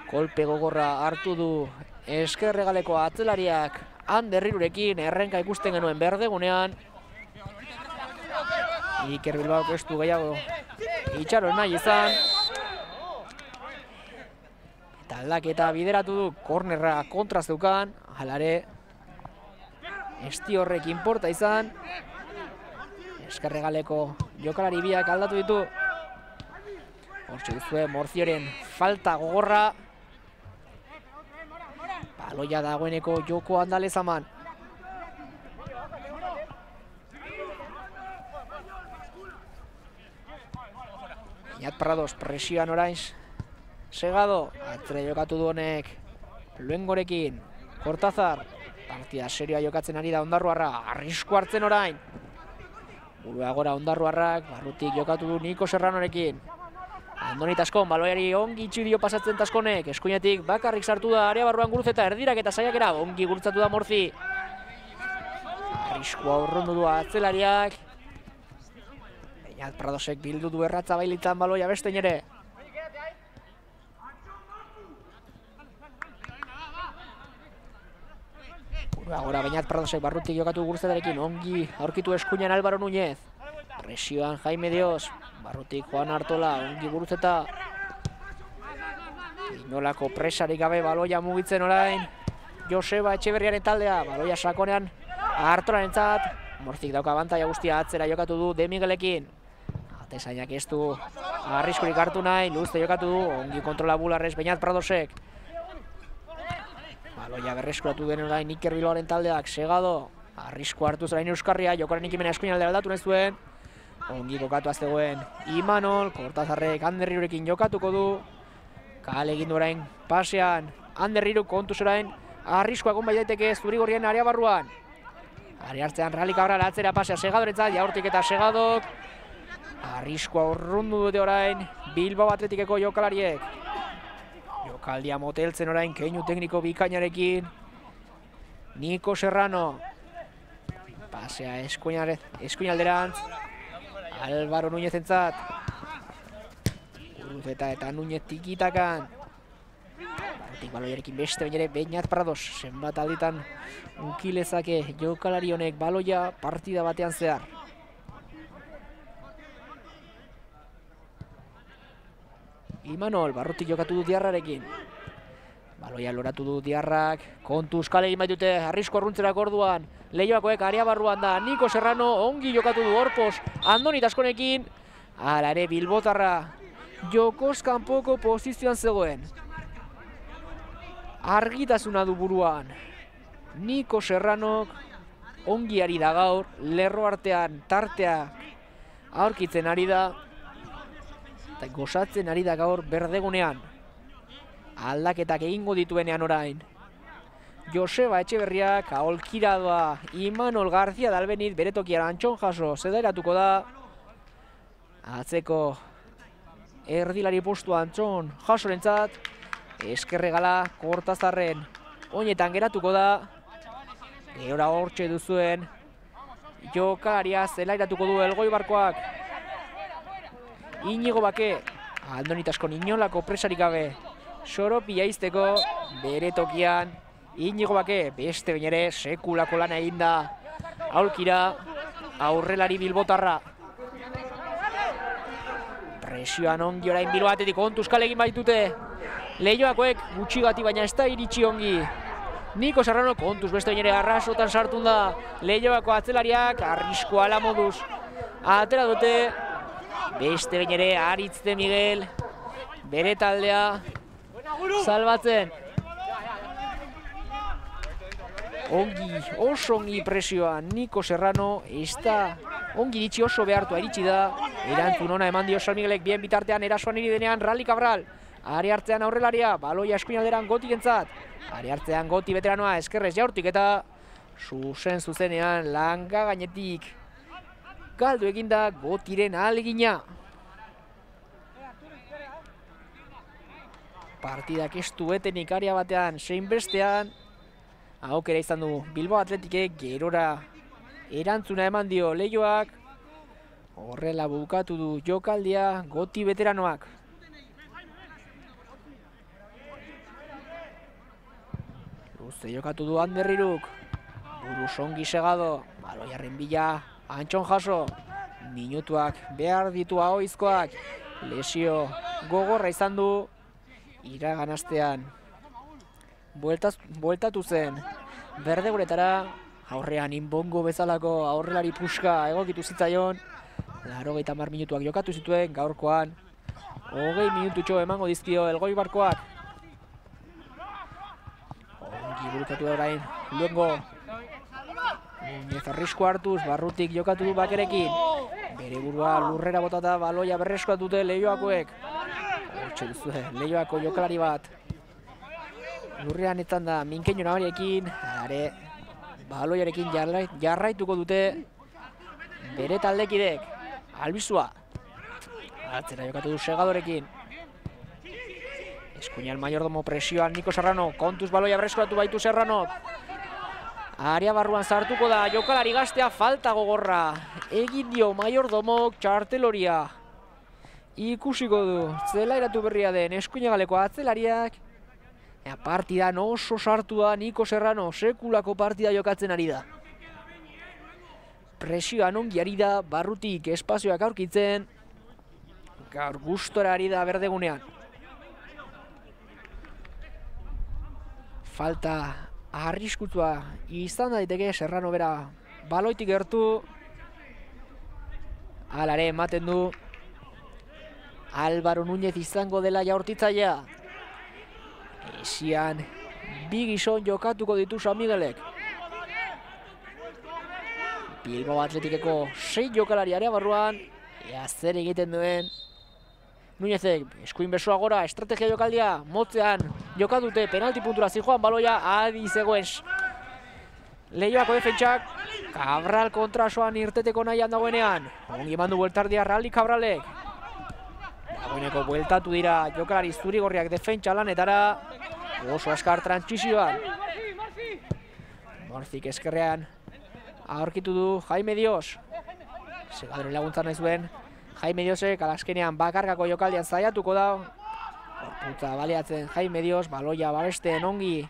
Speaker 1: Kolpe gogorra hartu du eskerregaleko atzelariak Anderrirurekin, errenka ikusten genuen berdegunean. Iker Bilbaok ez du gehiago itxaro nahi izan. Eta aldaketa bideratu du, kornerra kontra zeukan, halare esti horrek inporta izan. Eskerregaleko jokalari biak aldatu ditu. Hortxe duzue Morzioren falta gogorra. Baloia dagoeneko joko andalezaman. Beñat Prados presioan orain segado. Atzera jokatu du honek Luengorekin. Kortazar. Partida serioa jokatzen ari da Ondarruarra. Arrisku hartzen orain. Burua gora Ondarruarrak. Barrutik jokatu du Niko Serranorekin. Andoni Taskon, baloiari ongi itxi dio pasatzen Taskonek. Eskuinetik bakarrik sartu da area barruan Guruzeta, erdirak eta saiakera. Ongi gurutzatu da Morzi. Arriskua urrundu du atzelariak. Beñat Pradosek bildu du erratza bailitzan baloia bestein ere. Burua gora Beñat Pradosek Barrutik jokatu Guruzetarekin. Ongi aurkitu eskuinean Álvaro Núñez. Presioan Jaime Dios. Barrutik Juan Artola, ongi Guruzeta. Inolako presarik gabe baloia mugitzen orain Joseba Etxeberriaren taldea, baloia sakonean Artorarentzat, Morzik dauka abantaia guztia atzera jokatu du De Miguelekin. Atezainak ez du arriskurik hartu nahi, luzte jokatu du, ongi kontrola Bularrez Beñat Pradosek. Baloia berreskuratu den orain Iker Bilbaoren taldeak, Segado, arrisku hartu zerain Euskarria, jokoaren ikimena eskuinaldera aldatu nahi zuen. Ongi kokatu aztegoen Imanol, Kortazarrek Anderrirurekin jokatuko du. Kale egin du orain pasean, Anderriru kontuz orain, arriskoa egon bai daiteke Zurigorrien area barruan. Ari hartzean Rally Cabral atzera pasea Segadorentzat, Jaurtik eta Segadok. Arriskoa urrundu dute orain Bilbao Atletikeko jokalariek. Jokaldia moteltzen orain keinu tekniko bikainarekin. Niko Serrano. Pasea eskuinalderantz. Álvaro Núñezentzat. Urruzeta eta Núñez tikitakan. Barotik baloiarekin beste bain ere Beñat Prados. Zenbat alditan unkilezake jokalari honek baloia partida batean zehar. Imanol, Barrutik jokatu du Diarrarekin. Baloia loratu du Diarrak, kontuz kale egin baitute, arrisko arruntzerak orduan. Leioakoek area barruan da, Niko Serrano ongi jokatu du Orpos, Andoni Taskonekin. Hala ere Bilbotarra, jokoz kanpoko posizioan zegoen. Argitasuna du buruan. Niko Serranok ongi ari da gaur, lerro artean tartea aurkitzen ari da. Eta gozatzen ari da gaur berdegunean. Aldaketak egingo dituenean orain. Joseba Etxeberriak aholkira doa Imanol García Dalbenit bere tokian Antxon Jaso zedairatuko da. Atzeko erdilari postu Antxon Jasorentzat. Eskerregala Kortazarren oinetan geratuko da. Gehora hortxe duzuen jokalaria zelairatuko du Elgoibarkoak. Inigo Bake, Andonitaskon inolako presarik gabe, Soropi jaizteko bere tokian. Inigo Bake, beste bain ere sekulako lana eginda. Aulkira, aurrelari Bilbotarra. Presioan ongi orain Bilbao Atletik kontuz kale egin baitute. Leioakoek gutxigati baina ez da iritsi ongi. Niko Serrano kontuz beste bain ere arrasotan sartun da. Leioako atzelariak arrisko ala moduz atera dute. Beste bain ere Aritz de Miguel bere taldea salbatzen. Ongi, oso ongi presioa Niko Serrano, ez da ongi iritsi, oso behartua iritsi da. Erantzun ona eman dio San Miguelek bien bitartean erasoan iri denean Rally Cabral. Ari hartzean aurrelaria, baloia eskuinalderan Gotik entzat. Ari hartzean Goti veteranoa eskerrez Jaurtik eta zuzen zuzenean langa gainetik galdu eginda Gotiren ahalegina. Partidak ez du etenik aria batean zein bestean. Aukera izan du Bilbao Atletikek, gerora erantzuna eman dio Leioak. Horrela bukatu du jokaldia Goti veteranoak. Luze jokatu du Anderriruk. Buruz ongi Segado. Baloiarren bila Antxon Jaso. Minutuak behar ditu ahoizkoak. Lesio gogorra izan du. Iragan astean bueltatu zen berdeguretara, aurrean Inbongo bezalako aurrelari puska egokitu zitzaion. Laurogeita hamar minutuak jokatu zituen, gaurkoan hogei minututxo emango dizkio Elgoibarkoak. Ongi burutatu orain luengo. Núñez arrisko hartuz, Barrutik jokatu du Bakerekin. Bere burua lurrera botata baloia berreskoat dute Leioakoek. Hortxe duzue, Leioako jokalari bat. Lurrean etzan da minkeino nabariekin, are baloiarekin jarraituko dute bere taldekidek. Albizua. Atzera jokatu du Segadorekin. Eskuinan Mayordomo presioan Niko Serrano, kontuz baloia berreskuratu baitu Serranok. Area barruan sartuko da, jokalari gaztea falta gogorra. Egin dio Mayordomok txarteloria. Ikusiko du, zelairatu berria den eskuinagaleko atzelariak. Partidan oso sartu da Niko Serrano, sekulako partida jokatzen ari da. Presioan ongi ari da, Barrutik espazioak aurkitzen. Gaur gustora ari da berdegunean. falta arriskutsua izan daiteke Serrano bera baloitik gertu. Alare ematen du Álvaro Núñez izango dela jaurtitzailea. Esian bi gizon jokatuko ditu San Miguelek. Bilbao Atletikeko sei jokalari area barruan. Ea zer egiten duen Núñezek, eskuin besoa gora, estrategia jokaldia, motzean jokatute, penalti puntura zijoan baloia, adi zegoen Leioako defentsak, Cabral kontrasoan irteteko nahian dagoenean. Ongi eman du bueltardia Raldi Cabralek. Dagoeneko bueltatu dira jokalari zurigorriak defentsa lanetara. Oso askar trantsizioan. Morzik eskerrean aurkitu du Jaime Dios. Segadoren laguntzan nahi zuen. Jaime Diosek alaskenean bakargako jokaldian zaiatuko da. Gorputza baliatzen Jaime Dios, baloia babesten ongi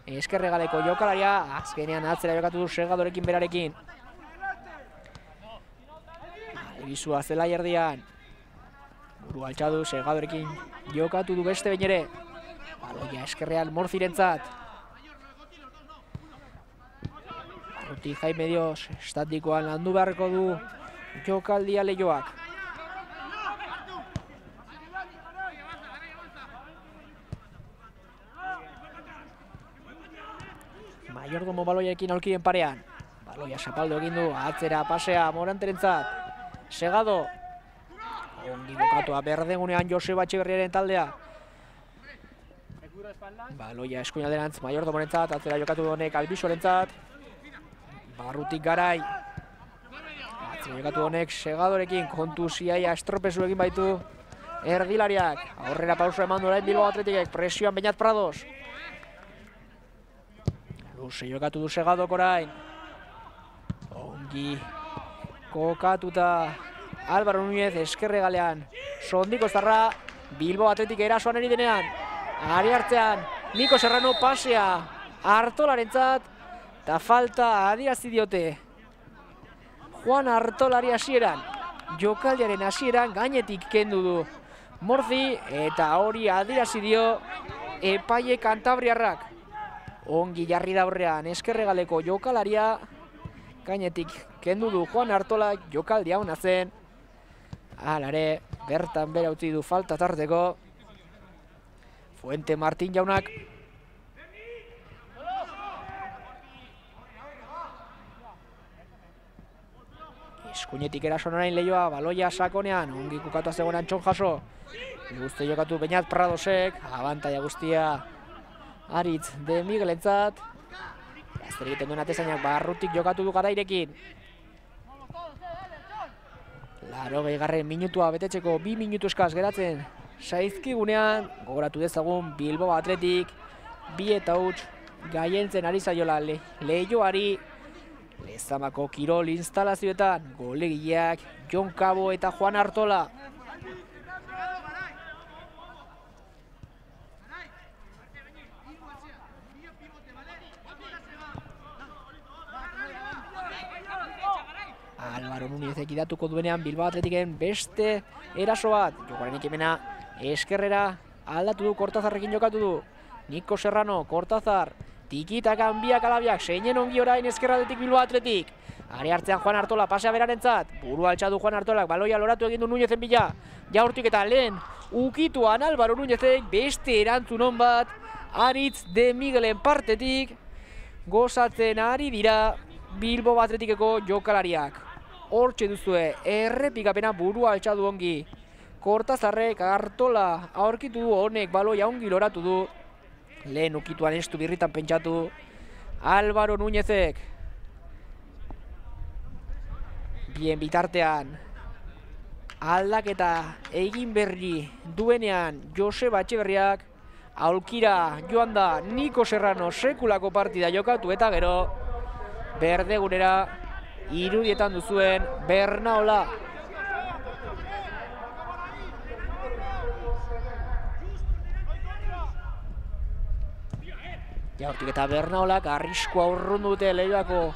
Speaker 1: eskerregaleko jokalaria, azkenean atzera jokatu du Segadorekin berarekin. Albizua zela erdian. Buru altxadu Segadorekin jokatu du beste behin ere. Baloia eskerrean Morzirentzat. Arruti Jaime Dios, estatikoan landu beharko du jokaldia Leioak. Mayordomo baloiarekin aulkiren parean. Baloia zapaldu egin du, atzera pasea Moranterentzat. Segado. Ongi bukatua berdegunean Joseba Etxeberriaren taldea. Baloia eskuinalderantz Mayordomorentzat, atzera jokatu honek Albisorentzat. Barrutik Garai. Atzera jokatu honek Segadorekin, kontu ziaia estropezu egin baitu erdilariak. Aurrera pausa eman du orain Bilbao Atletikek, presioan Beñat Prados. Luze jokatu du Segadok orain. Ongi kokatuta Álvaro Núñez eskerregalean. Sondiko zarra Bilbao Atletik erasoan eri denean. Ari hartzean Niko Serrano pasea Artolarentzat. Ta falta adierazi diote Juan Artolari hasieran. Jokaldiaren hasieran gainetik kendu du Morzi eta hori adierazi dio epaile kantabriarrak. Ongi jarri da aurrean eskerregaleko jokalaria, gainetik kendu du Juan Artola, jokaldia ona zen. Halare, bertan bera utzi du falta tarteko. Fuente Martín jaunak. Eskuinetik erason orain Leioa, baloia sakonean, ongi kukatu zegoen Antxon Jaso. Guzti jokatu Beñat Pradosek, abantaia guztia Aritz de Miguelentzat. Azter egiten duen atezainak barrutik jokatu du Garairekin. Laurogei garren minutua betetzeko bi minutu eskaz geratzen zaizkigunean, gogoratu dezagun Bilbao Atletik bi eta huts gaientzen ari zaiola le, Leioari. Lezamako kirol instalazioetan golegileak Jon Cabo eta Juan Artola. Álvaro Núñez ekidatuko duenean Bilbao Atletiken beste eraso bat. Jokoaren ekimena eskerrera aldatu du, Kortazarrekin jokatu du. Niko Serrano, Kortazar, tikitakan biak alabiak, seinen ongi orain eskerraldetik Bilbao Atletik. Ari hartzean Juan Artola, pasea berarentzat. Buru altxadu Juan Artolak, baloia loratu egin du Núñezen bila. Jaurtik eta lehen ukituan Álvaro Núñezek beste erantzun on bat. Aritz de Miguelen partetik gozatzen ari dira Bilbao Atletikeko jokalariak. Hortxe duzue, errepikapena burua altxadu ongi. Kortazarrek Artola aurkitu du, honek baloia ongi loratu du. Lehen ukituan estu birritan pentsatu Álvaro Núñezek. Bien bitartean aldaketa egin berri duenean Joseba Etxeberriak. Aulkira joan da Niko Serrano, sekulako partida jokatu eta gero berdegunera irudietan duzuen Bernaola. Jaurtik eta Bernaolak arriskua urrundu dute Leioako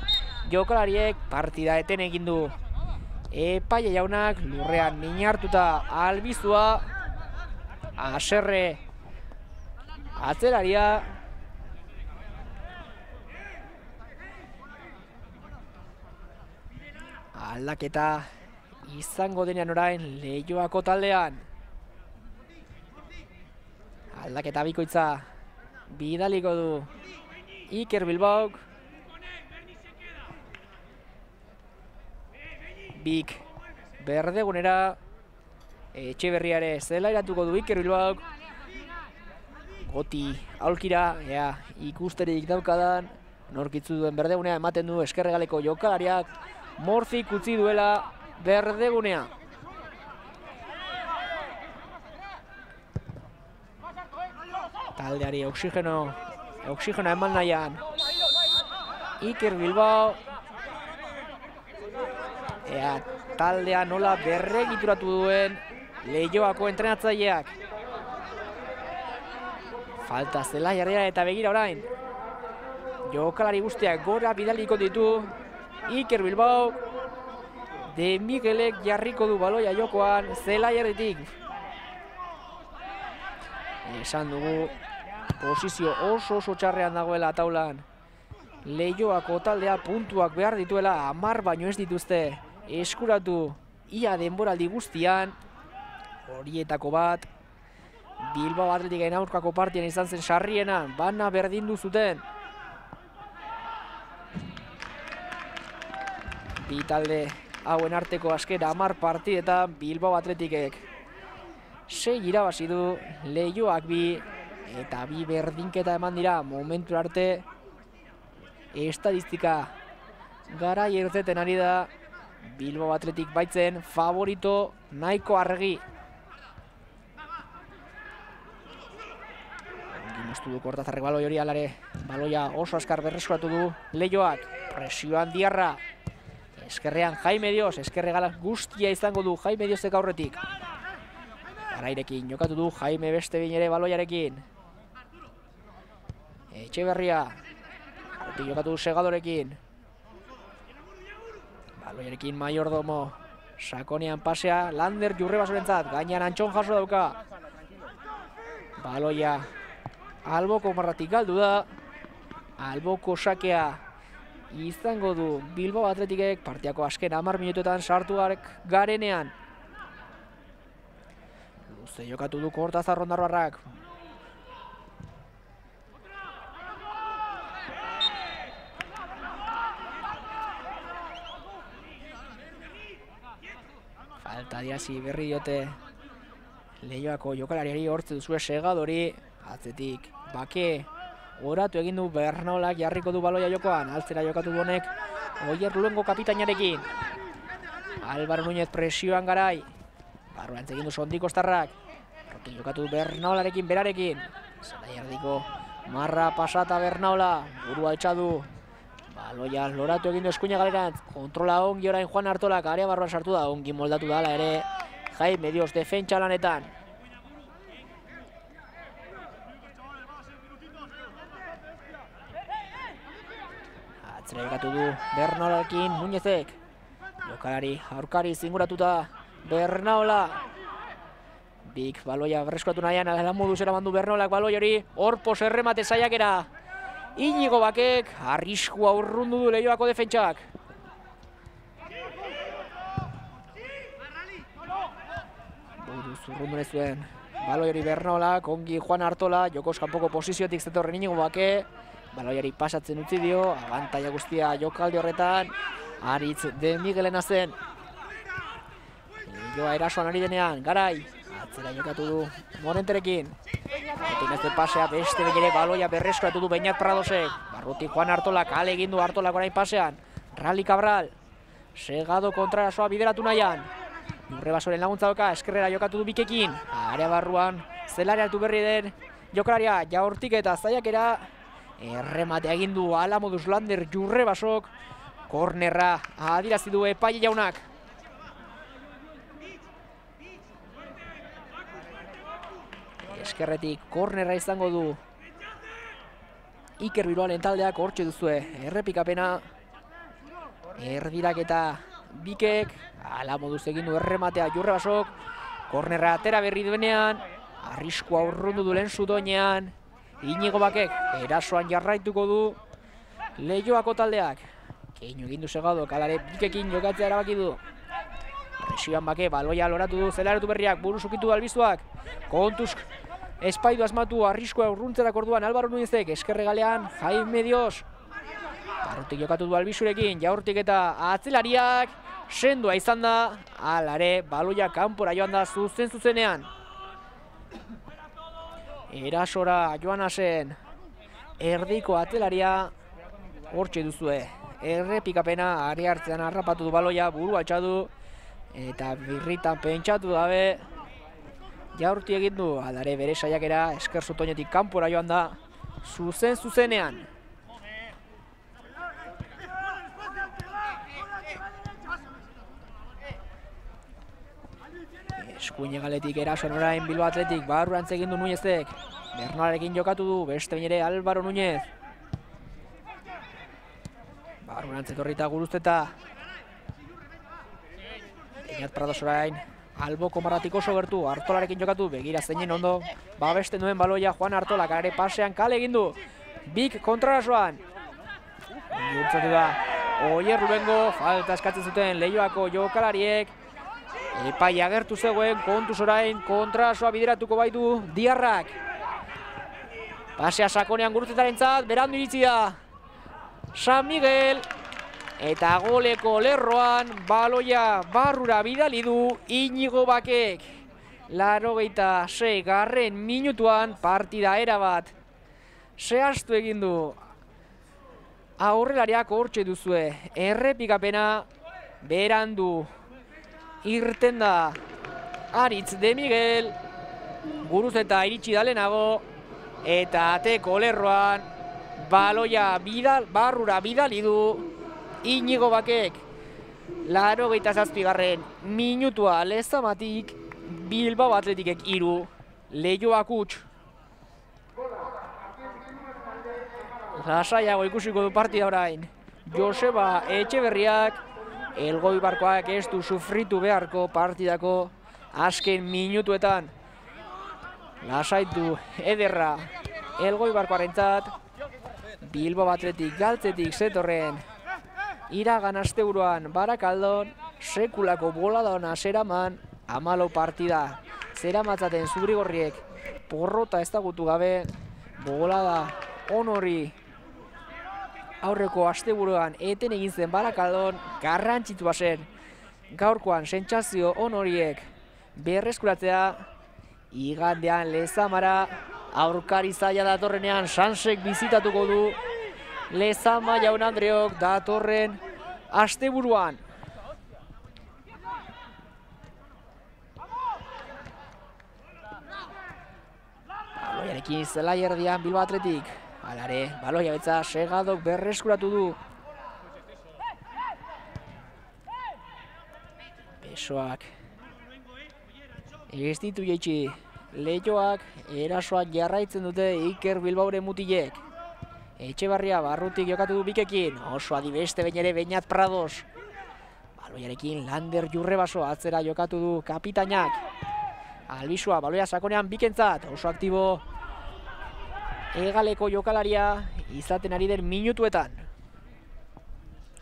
Speaker 1: jokalariek, partida eten egin du. Epaile jaunak lurrean min hartuta Albizua, Aserre atzeraria. Aldaketa izango denean orain Leioako taldean. Aldaketa bikoitza bidaliko du Iker Bilbaok. Bik berdegunera. Etxeberriare zela iratuko du Iker Bilbaok. Goti aulkira, ea ikusterik daukadan. Norkitzu duen berdegunea ematen du eskerregaleko jokalariak. Morzik utzi duela berdegunea. Taldeari oksigeno, oksigenoa eman nahian. Iker Bilbao. Ea taldea nola berregituratu duen Leioako entrenatzaileak. Falta Zelaiarra eta begira orain. Jokalari guztiak gora bidaliko ditu. Iker Bilbao. De Miguelek jarriko du baloia jokoan Zelaiarretik. Esan dugu posizio oso oso txarrean dagoela taulan. Leioako taldea puntuak behar dituela, hamar baino ez dituzte eskuratu ia denboraldi guztian. Horietako bat Bilbao Athleticen aurkako partian izan zen sarriena, bana berdindu zuten. Bi talde hauen arteko azken hamar partidetan Bilbao Athleticek sei irabazi du, Leioak bi eta bi berdinketa eman dira momentu arte. Estadistika garai ertzeten ari da Bilbao Athletic baitzen favorito nahiko argi. Moztu du Kortazarrek baloi hori alare. Baloia oso askar berreskuratu du Leioak. Presioan Diarra. Eskerrean Jaime Dios. Eskerre gala guztia izango du Jaime Diosek aurretik. Garairekin jokatu du Jaime beste behin ere baloiarekin. Etxeberria. Aurretik jokatu du Segadorekin. Baloiarekin Mayordomo. Sakonean pasea Lander Jurrebasorentzat. Gainan Antxon jaso dauka. Baloia alboko marratik galdu da. Alboko sakea izango du Bilbao Athleticek partiako azken hamar minutuetan sartu garenean. Luze jokatu du Kortazar Ondarroarrak. Falta diazi berri diote Leioako jokalariari hortze duzue Segadori. Atzetik Bake oratu egin du Bernaolak jarriko du baloia jokoan. Altzera jokatu du honek Oier Luengo kapitainarekin. Álvaro Núñez presioan Garai. Barruantz egin du Sondi Kostarrak. Rotin jokatu du Bernaolarekin berarekin. Zelaiardiko marra pasata Bernaola. Burua altxadu. Baloia loratu egin du Eskuina galerantz. Kontrola ongi orain Juan Artolak. Area barruan sartu da. Ongi moldatu dala ere Jaime Dios defentsa lanetan. Atzera jokatu du Bernaolarekin Núñezek. Jokalari aurkari zinguratuta Bernaola. Bik baloia berreskuratu nahian, ala moduz eraman du Bernaolak baloi hori. Horpos erremate saiakera. Inigo Bakek arriskua urrundu du Leioako defentsak. Buruz urrundu zuen baloi hori Bernaolak, ongi Juan Artola, jokos kanpoko posiziotik zetorren Inigo Bake. Baloiari pasatzen utzi dio, abantaia guztia jokaldi horretan. Aritz de Miguelena zen. Leioa erasoan ari denean, Garai. Atzera jokatu du Morenterekin. Martinez pasea beste behin ere baloia berreskuratu du Beñat Pradosek. Barruti Juan Artolak ale egin du Artolak orain pasean. Rally Cabral. Segado kontrarasoa bideratu nahian. Jurrebasoren laguntza doka, eskerrera jokatu du Bikekin. Area barruan zelare hartu berri den jokalaria jaurtik eta zaiakera. Errematea egin du ala moduz Lander Jurrebasok. Kornerra adirazi du epaile jaunak. Eskerretik kornerra izango du Iker Bilbaoren taldeak hortxe duzue. Errepikapena. Erdiraketa Bikek. Ala moduz egin du errematea Jurrebasok. Kornerra atera berri duenean. Arriskua urrundu du lehen zutoinean. Inigo Bakek erasoan jarraituko du Leioako taldeak. Keinu egin du Segadok, alare bikekin jokatzea erabaki du. Presioan Bake, baloia loratu du Zelaretu Berriak, buru sukitu Albizuak. Kontuz espaidu asmatu, arriskoa urruntzerak orduan Álvaro Núñezek, eskerregalean Jaime Dios. Barrutik jokatu du Albizurekin, Jaurtik eta atzelariak. Sendoa izan da, alare baloia kanpora joan da zuzen zuzenean. Erasora joan asen, erdiko atzelaria hortxe duzue. Errepikapena ari hartzean harrapatu du baloia, buru altxadu eta birritan pentsatu dabe. Jaurti egin du, alare bere saiakera esker zutoinetik kanpora joan da zuzen zuzenean. Eskuine galetik erasoan orain Bilbao Atletik, barrurantz egin du Núñezek. Bernalarekin jokatu du, beste bain ere Álvaro Núñez. Barrurantz etorrita Guruzeta. Beñat Prados orain, alboko marratik oso gertu, Artolarekin jokatu, begira zeinen ondo. Babesten duen baloia Juan Artola, kare pasean kale egin du. Bik kontrarasoan. Gurtzatu da, Oier Rubengo, falta eskatzen zuten Leioako jokalariek. Epai agertu zegoen, kontuz orain, kontrasoa bideratuko baitu Diarrak. Pasea sakonean Guruzetarentzat, berandu iritsi da San Miguel. Eta goleko lerroan, baloia barrura bidali du Iñigo Bakek. Laurogeita sei garren minutuan partida erabat zehaztu egin du. Aurrelariak hortxe duzue, errepikapena berandu irten da Aritz de Miguel. Guruzeta iritsi da lehenago eta ateko lerroan baloia bidal, barrura bidali du Iñigo Bakek. Laurogeita zazpigarren minutua Lezamatik, Bilbao Atletikek hiru, Leioak huts. Lasaiago ikusiko du partida orain. Joseba Etxeberriak, Elgoibarkoak ez du sufritu beharko partidako azken minutuetan. Lasaitu ederra Elgoibarkoarentzat, Bilbao Atletik galtzetik zetorren iragan asteburuan Barakaldon sekulako bolada ona zeraman hamalau partida. Zeramatzaten zurigorriek porrota ezagutu gabe, bolada honori aurreko asteburuan eten egin zen Barakaldon garrantzitsua zen. Gaurkoan sentsazio honoriek berreskuratzea, igandean Lezamara aurkari zaila datorrenean Sansek bizitatuko du Lezama Jaun Andreok datorren asteburuan. Baloiarekin zelai erdian Bilbao Atletik. Alare, baloia betza Segadok berreskuratu du. Besoak ez ditu jaitsi. Leioak erasoak jarraitzen dute Iker Bilbaoren mutilek. Etxebarria barrutik jokatu du Bikekin, oso adi beste behin ere Beñat Prados. Baloiarekin Lander Jurrebaso atzera jokatu du kapitainak. Albizua baloia sakonean Bikentzat, oso aktibo hegaleko jokalaria izaten ari den minutuetan.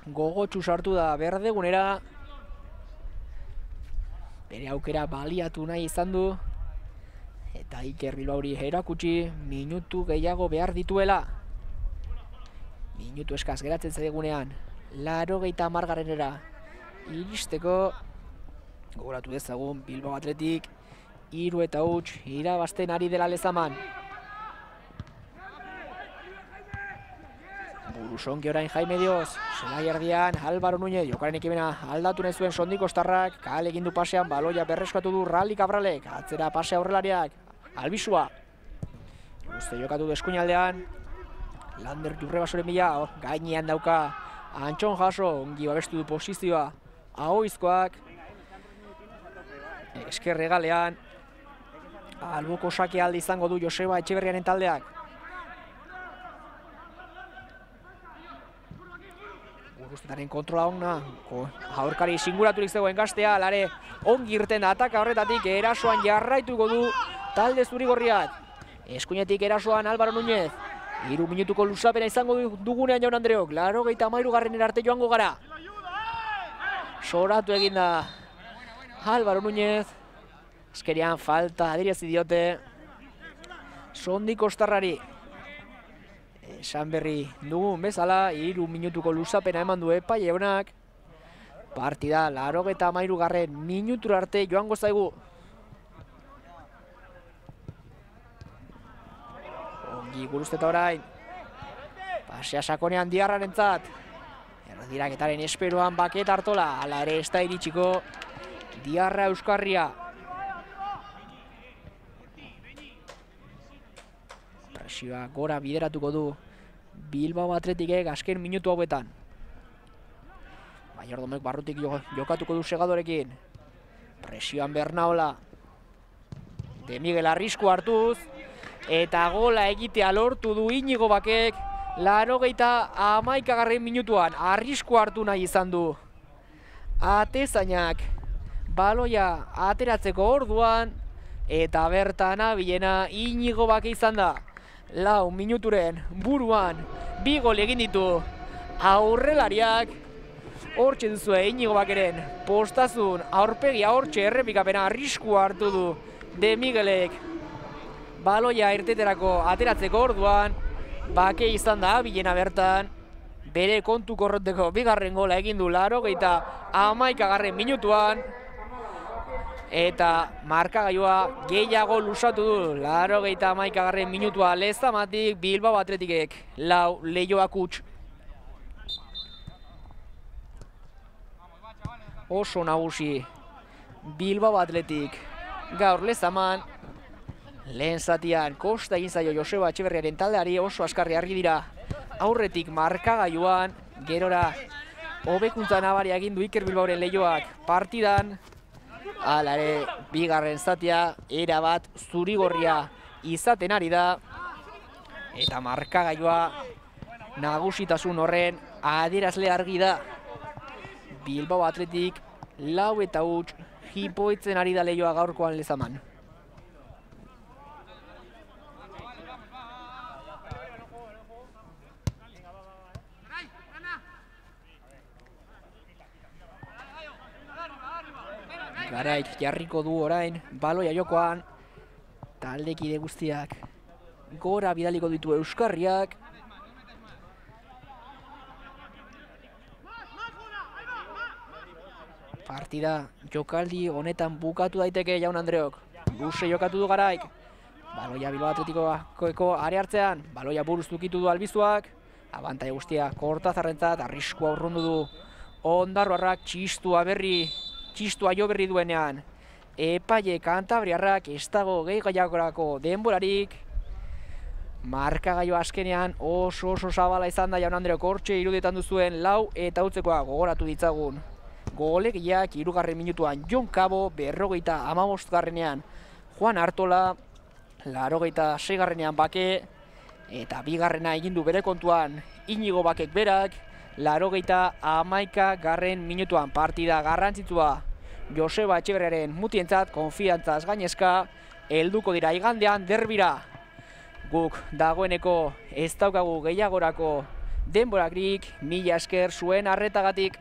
Speaker 1: Gogotsu sartu da berdegunera. Bere aukera baliatu nahi izan du. Eta Iker Bilbaori erakutsi minutu gehiago behar dituela. Minutu eskaz geratzen zaigunean, laurogeita hamargarrenera iristeko. Gogoratu dezagun Bilbao Atletik hiru eta huts irabazten ari dela Lezaman. Burusonki orain Jaime Dios, zelai erdian Álvaro Núñez, jokaren ekimena aldatu nahi zuen Sondiko Ostarrak, kale egin du pasean, baloia berreskatu du Rally Cabralek, atzera pase aurrelariak, Albizua. Guzti jokatu du eskuinaldean, Lander Jurrebasoren bila, oh, gainean dauka Antxon Jaso, ongi babestu du posizioa Ahoizkoak. Esker regalean, alboko sake alde izango du Joseba Etxeberriaren taldeak. Guruztetaren kontrola ona, aurkari singuraturik zegoen Gaztea, lare ongi irten da ataka horretatik, erasoan jarraituko du talde zurigorriak. Eskuinetik erasoan Álvaro Núñez, Hiru minutuko luzapena izango dugunean Jaun Andreok, laurogeita hamairugarren arte joango gara. Soratu egin da Álvaro Núñez. Azkerian falta adirazi diote Sondi Kostarrari. Esan berri dugun bezala, hiru minutuko luzapena eman du epai jaunak. Partida laurogeita hamairugarren minutura arte joango zaigu. Ongi guruzteta orain. Pasea sakonean Diarrarentzat. Erdiraketaren esperoan Baket Artola. Hala ere ez da iritsiko Diarra Euskarria. Presioa gora bideratuko du Bilbao Athleticek azken minutu hauetan. Maiordomek barrutik jokatuko du segadorekin. Presioan Bernaola. De Miguel arrisku hartuz. Eta gola egitea lortu du Inigo Bakek. Laurogeita hamaikagarren minutuan arrisku hartu nahi izan du. Atezainak baloia ateratzeko orduan. Eta bertan abilena Inigo Bake izan da. Lau minuturen buruan bi gol egin ditu aurrelariak. Hortxe duzue Inigo Bakeren postazun aurpegia, hortxe errepikapena arrisku hartu du De Miguelek. Baloia irteterako ateratzeko orduan Bake izan da abilena bertan. Bere kontu korroteko bigarren gola egin du laurogeita hamaikagarren minutuan. Eta markagailua gehiago luzatu du. Laurogeita hamaikagarren minutua Lezamatik, Bilbao Athleticek lau, Leioak huts. Oso nagusi Bilbao Athletic gaur Lezaman. Lehen zatian kosta egin zaio Joseba Etxeberriaren taldeari, oso askarri argi dira aurretik markagailuan. Gerora hobekuntza nabaria egin du Iker Bilbaoren Leioak partidan. Hala ere, bigarren zatia erabat zurigorria izaten ari da. Eta markagailua nagusitasun horren adierazle argi da. Bilbao Athletic lau eta huts jipoitzen ari da Leioa gaurkoan Lezaman. Garaik jarriko du orain baloia jokoan. Taldekide guztiak gora bidaliko ditu Euskarriak. Partida jokaldi honetan bukatu daiteke Jaun Andreok. Luze jokatu du Garaik. Baloia Bilbao Athletikoeko are hartzean. Baloia buruz dukitu du Albizuak. Abantai guztia Kortazarrentzat, arriskua urrundu du Ondarroarrak, txistua berri txistua jo berri duenean. Epaile Kantabriarrak ez dago gehi gaiakorako denborarik. Markagailua azkenean oso oso zabala izan da Jaun Andreok, hortxe irudetan duzuen lau eta hutzekoa gogoratu ditzagun. Golegiak hirugarren minutuan Jon Cabo, berrogeita hamabostgarrenean Juan Artola, laurogeita seigarrenean Bake, eta bigarrena egin du bere kontuan Inigo Bakek berak, laurogeita hamaikagarren minutuan. Partida garrantzitsua Joseba Etxeberriaren mutientzat, konfiantzaz gainezka helduko dira igandean derbira. Guk dagoeneko ez daukagu gehiagorako denborakrik, mila esker zuen arretagatik.